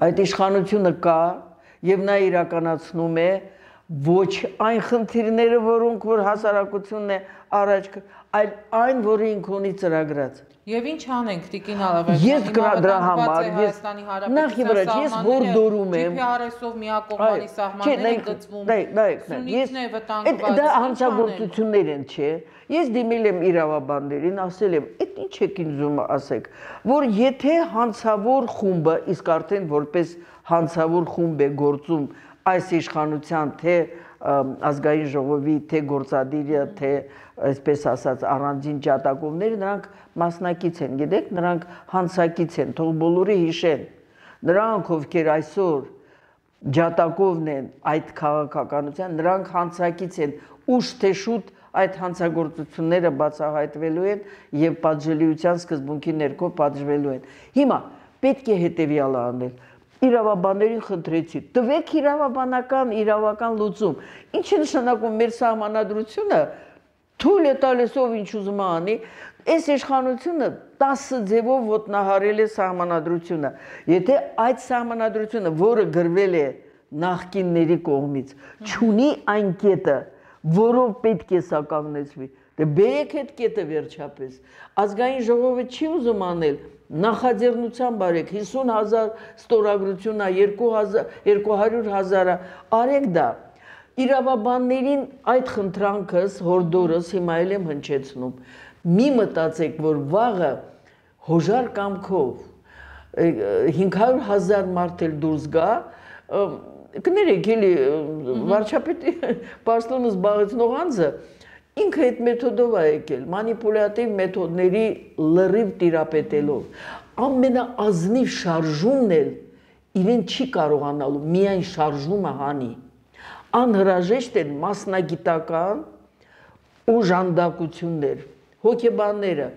[SPEAKER 2] Այդ իշխանությունը կա եւ նա իրականացնում է ոչ այն խնդիրները, որոնք որ հասարակությունն է առաջ, այլ այն, որը ինքն ունի ծրագրած։
[SPEAKER 1] Եվ ինչ անենք, Տիկին Ալավերդյան,
[SPEAKER 2] ես դրա համար ես նախ ի վրա ես հորդորում եմ
[SPEAKER 1] ջի պի ար էսով միակողմանի սահմանները գծվում,
[SPEAKER 2] ես դա հանցագործություններ են, չէ։ Ես դիմել եմ իրավաբաններին, ասել եմ, այդ ինչ եք ինձ ուզում ասեք, որ եթե հանցավոր խումբը, իսկ արդեն որպես հանցավոր խումբ է գործում այս իշխանության թե ազգային ժողովի, թե գործադիրը, թե այսպես ասած առանձին ջատագովները, նրանք մասնակից են, գիտեք, նրանք հանցակից են, թող բոլորը հիշեն, նրանք ովքեր այսօր ջատագովն են այդ քաղաքականության, նրանք հանցակից են, ուշ թե շուտ այդ հանցագործությունները բացահայտվելու են եւ պատժելիության սկզբունքի ներքո պատժվելու են։ Հիմա պետք է հետեւյալը անել։ Իրավաբաններին խնդրեցի, տվեք իրավաբանական, իրավական լուծում։ Ինչ է նշանակում մեր սահմանադրությունը, թույլ է տալիս ով ինչ ուզում անի, այս իշխանությունը տասը ձևով ոտնահարել է սահմանադրությունը։ Եթե այդ սահմանադրությունը, որը գրվել է նախկինների կողմից, չունի այն կետը, որով պետք է սա կանգնեցվի, դե բերեք այդ կետը վերջապես։ Ազգային ժողովը չի ուզում անել, նախաձեռնության բարեք, հիսուն հազար ստորագրությունա, երկու հարյուր հազարը, արեք դա։ Իրավաբաններին այդ խնդրանքս, հորդորս հիմա էլ եմ հնչեցնում։ Մի մտածեք, որ վաղը հոժար կամքով հինգ հարյուր հազար մարդ էլ դուրս գա, կներեք էլի վարչապետի պաշտոնը զբաղեցնող անձը ինքը այդ մեթոդով է եկել, մանիպուլյատիվ մեթոդների լրիվ տիրապետելով, ամենաազնիվ շարժումն էլ իրեն չի կարողանալու միայն շարժումը հանի, անհրաժեշտ են մասնագիտական օժանդակություններ, հոգեբանները,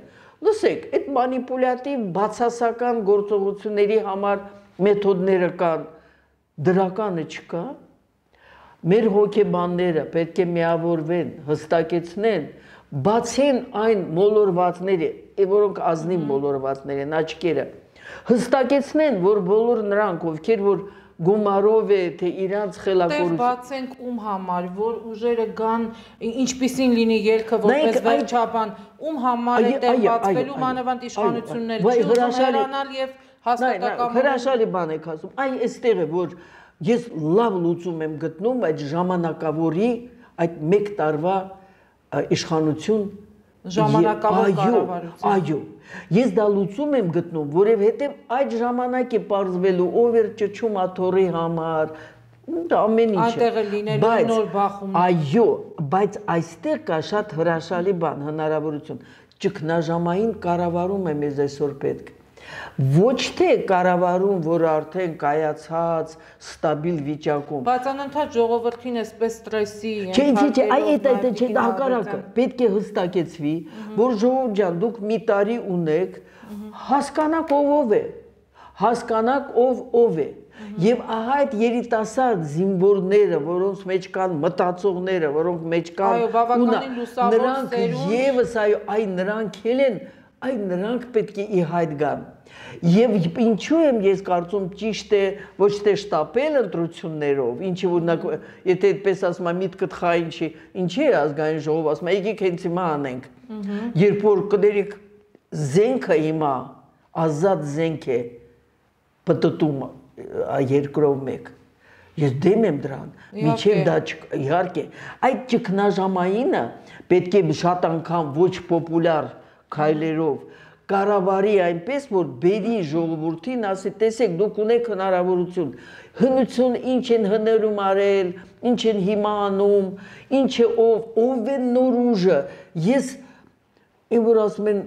[SPEAKER 2] լսեք, այդ մանիպուլյատիվ բացասական գործողությունների համար մեթոդները կան, դրականը չկա, մեր հոգեբանները պետք է միավորվեն, հստակեցնեն, բացեն այն մոլորվածները, որոնք ազնիվ մոլորվածներ են, աչքերը, հստակեցնեն, որ բոլոր նրանք, ովքեր որ գումարով է, թե իրանց խելակորություն։
[SPEAKER 1] Տեղ բացենք ում համար, որ ուժերը գան, ինչպիսին լինի ելքը, որպես վերջաբան, ում համար է տեղ բացվելու մանավանդ իշխանություններ, չի ուզում հեռանալ և հաստատակամորեն
[SPEAKER 2] հրաշալի բան եք ասում։ Այ այստեղ է որ ես լավ լուծում եմ գտնում այդ ժամանակավորի այդ մեկ տարվա իշխանություն
[SPEAKER 1] ժամանակավոր կառավարություն։
[SPEAKER 2] Այո, ես դա լուծում եմ գտնում, որովհետև այդ ժամանակ է պարզվելու ով էր ճճում աթոռի համար, ամեն ինչը։
[SPEAKER 1] Այնտեղ է լինելու նոր բախում։
[SPEAKER 2] Այո, բայց այստեղ կա շատ հրաշալի բան, հնարավորություն։ Ճգնաժամային կառավարում է մեզ այսօր պետք։ Ոչ թե կառավարում, որ արդեն կայացած, ստաբիլ վիճակում։
[SPEAKER 1] Բայց անընդհատ ժողովրդին էսպես ստրեսի
[SPEAKER 2] Չէ, չէ, այ այդ այդ չէ, դա հակառակը։ Պետք է հստակեցվի, որ ժողովուրդ ջան, դուք մի տարի ունեք, հասկանաք ով ով է, հասկանաք ով ով է։ Եվ ահա այդ երիտասարդ զինվորները, որոնց մեջ կան մտածողները, որոնք մեջ կան,
[SPEAKER 1] այո, բավականին լուսավոր սերունդ,
[SPEAKER 2] եւս այո, այ նրանք են, այ նրանք պետք է ի հայտ գան։ Եվ ինչու եմ ես կարծում ճիշտ է ոչ թե շտապել ընտրություններով, ինչի օրինակ եթե այդպես ասում եմ միտքդ խային չի, ինչի է ազգային ժողով ասում, եկեք հենց հիմա անենք։ Երբ որ կներեք զենքը հիմա ազատ զենք է պատտում երկրով մեկ։ Ես դեմ եմ դրան, միջև դա իհարկե, այդ ճգնաժամայինը պետք է շատ անգամ ոչ պոպուլյար քայլերով կառավարի այնպես, որ բերի ժողովրդին ասի, տեսեք, դուք ունեք հնարավորություն, հնություն ինչ են հներում արել, ինչ են հիմա անում, ինչ է ով, ով է նոր ուժը, ես Իմ որ ասում են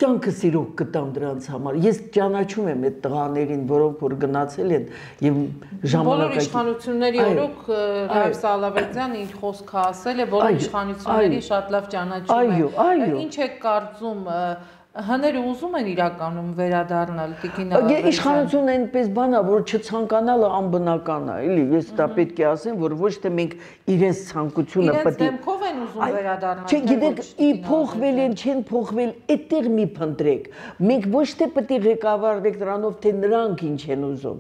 [SPEAKER 2] կյանքը սիրող կտամ դրանց համար։ Ես ճանաչում եմ այդ տղաներին, որոնք որ գնացել են եւ ժամանակակից
[SPEAKER 1] բոլոր իշխանությունների օրոք Ռայֆ Սալավերդյանը իր խոսքը ասել է, բոլոր իշխանություններին շատ լավ ճանաչում է։ Ինչ է կարծում Հները ուզում են իրականում վերադառնալ Տիկին Ալավերդյան։
[SPEAKER 2] Իշխանությունը այնպես բան է, որ չցանկանալը անբնական է, էլի, ես դա պետք է ասեմ, որ ոչ թե մենք իրենց ցանկությունը
[SPEAKER 1] պետք է։ Իրենց դեմքով են ուզում վերադառնալ։
[SPEAKER 2] Չէ, գիտեք, ի փոխվել են, չեն փոխվել, այդտեղ մի փնտրեք։ Մենք ոչ թե պետք է ղեկավարվենք նրանով, թե նրանք ինչ են ուզում,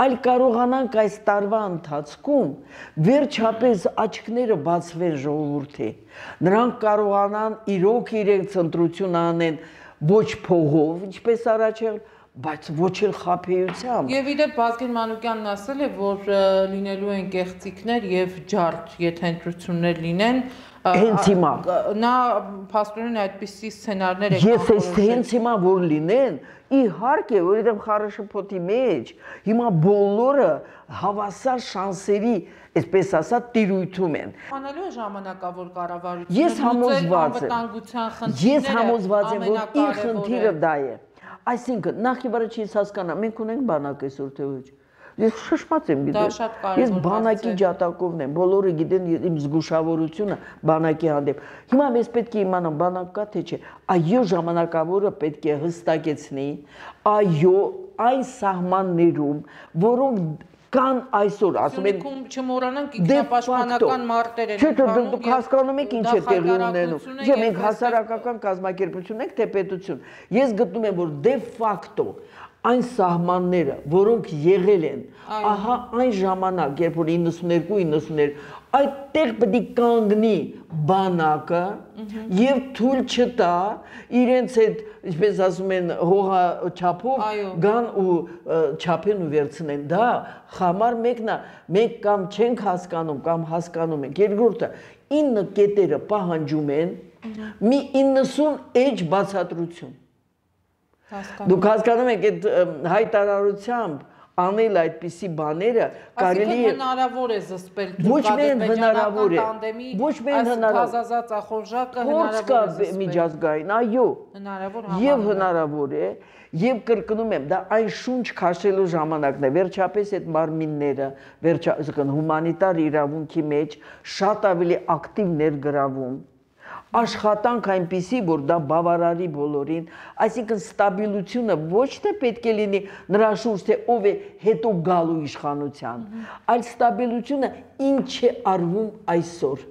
[SPEAKER 2] այլ կարողանանք այս տարվա ընթացքում վերջապես աչքները բացվեն ժողովրդի։ Նրանք կարողանան իրոք իրենց ընտրություն անեն ոչ փողով, ինչպես առաջ եղել, բայց ոչ էլ խաբեությամբ։
[SPEAKER 1] Եվ իդեպ Վազգեն Մանուկյանն ասել է, որ լինելու են կեղծիքներ եւ ջարդ, եթե ընտրություններ լինեն,
[SPEAKER 2] հենց հիմա
[SPEAKER 1] նա փաստորեն այդպիսի սցենարներ է
[SPEAKER 2] Ես այս հենց հիմա որ լինեն, իհարկե, որովհետեւ խառաշփոթի մեջ հիմա բոլորը հավասար շանսերի այսպես ասած տիրույթում են։
[SPEAKER 1] Անալու է ժամանակավոր կառավարությունը։
[SPEAKER 2] Ես համոզված եմ։ Ես համոզված եմ, որ իր խնդիրը դա է։ Այսինքն, նախ եւ առաջ ես հասկանամ, մենք ունենք բանակ այսօր թե ոչ։ Ես շշմած եմ գիտեմ։ Ես բանակի ջատակովն եմ, բոլորը գիտեն իմ զգուշավորությունը բանակի հանդեպ։ Հիմա մեզ պետք է իմանալ բանակ կա թե չէ։ Այո, ժամանակավորը պետք է հստակեցնի, այո, այն սահմաններում, որոնք կան այսօր, ասում են
[SPEAKER 1] չմոռանանք ինքնապաշտպանական մարտեր են
[SPEAKER 2] Չէ, դուք հասկանում եք ինչ է տեղի ունենում։ Չէ, մենք հասարակական կազմակերպություն ենք, թե պետություն։ Ես գտնում եմ, որ դե ֆակտո այն սահմանները, որոնք եղել են, ահա այն ժամանակ, երբ որ իննսուններկու իննսուններ, այդտեղ պետք է կանգնի բանակը եւ թույլ չտա իրենց այդ, ինչպես ասում են, հողա չափով գան ու չափեն ու վերցնեն։ Դա համար մեկն է, մենք կամ չենք հասկանում, կամ հասկանում ենք։ Երկրորդը, ինը կետերը պահանջում են մի իննսուն էջ բացատրություն։ Դուք հասկանում եք այդ հայտարարությամբ անել այդպիսի բաները կարելի է
[SPEAKER 1] հնարավոր է զսպել
[SPEAKER 2] ոչ միայն հնարավոր է ոչ միայն հնարավոր
[SPEAKER 1] ազազած ախորժակը
[SPEAKER 2] հնարավոր է միջազգային այո եւ հնարավոր է եւ կրկնում եմ դա այն շունչ քաշելու ժամանակն է վերջապես այդ մարմինները վերջապես հումանիտար իրավունքի մեջ շատ ավելի ակտիվ ներգրավում աշխատանք այնպիսի, որ դա բավարարի բոլորին, այսինքն ստաբիլությունը ոչ թե պետք է լինի նրա շուրջ, թե ով է հետո գալու իշխանության, այլ ստաբիլությունը ինչ է արվում այսօր,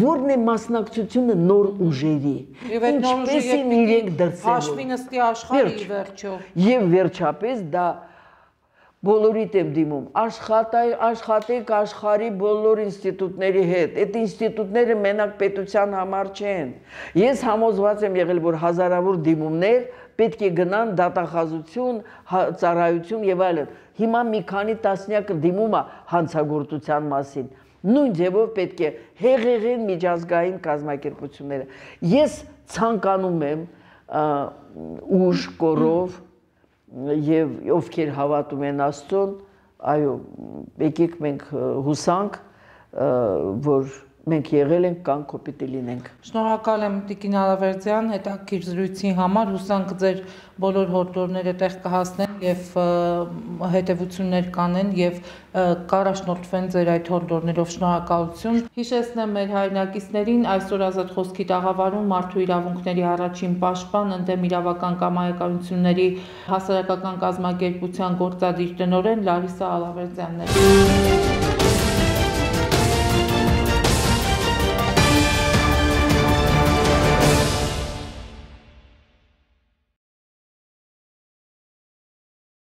[SPEAKER 2] որն է մասնակցությունը նոր ուժերի, ինչպես են իրենք դրսևորվում,
[SPEAKER 1] հաշվի նստի աշխարհի վերջո։
[SPEAKER 2] Եվ վերջապես դա բոլորիդ եմ դիմում, աշխատեք աշխարհի բոլոր ինստիտուտների հետ, այդ ինստիտուտները մենակ պետության համար չեն։ Ես համոզված եմ եղել, որ հազարավոր դիմումներ պետք է գնան դատախազություն, ծառայություն եւ այլն։ Հիմա մի քանի տասնյակ դիմում է հանցագործության մասին։ Նույն ձևով պետք է հեղեղեն միջազգային կազմակերպությունները։ Ես ցանկանում եմ ուժ կորով եւ ովքեր հավատում են Աստծուն, այո, եկեք մենք հուսանք, որ մենք եղել ենք կան կոպիտ լինենք։
[SPEAKER 1] Շնորհակալ եմ Տիկին Ալավերդյան հետաքրքիր զրույցի համար, հուսանք ձեր բոլոր հորդորները տեղ կհասնեն եւ հետեւություններ կանեն եւ կառաջնորդվեն ձեր այդ հորդորներով։ Շնորհակալություն։ Հիշեցնեմ մեր հայրենակիցներին, այսօր Ազատ խոսքի տաղավարում մարդու իրավունքների առաջին պաշտպան, ընդդեմ իրավական կամայականությունների հասարակական կազմակերպության գործադիր տնօրեն Լարիսա Ալավերդյանն է։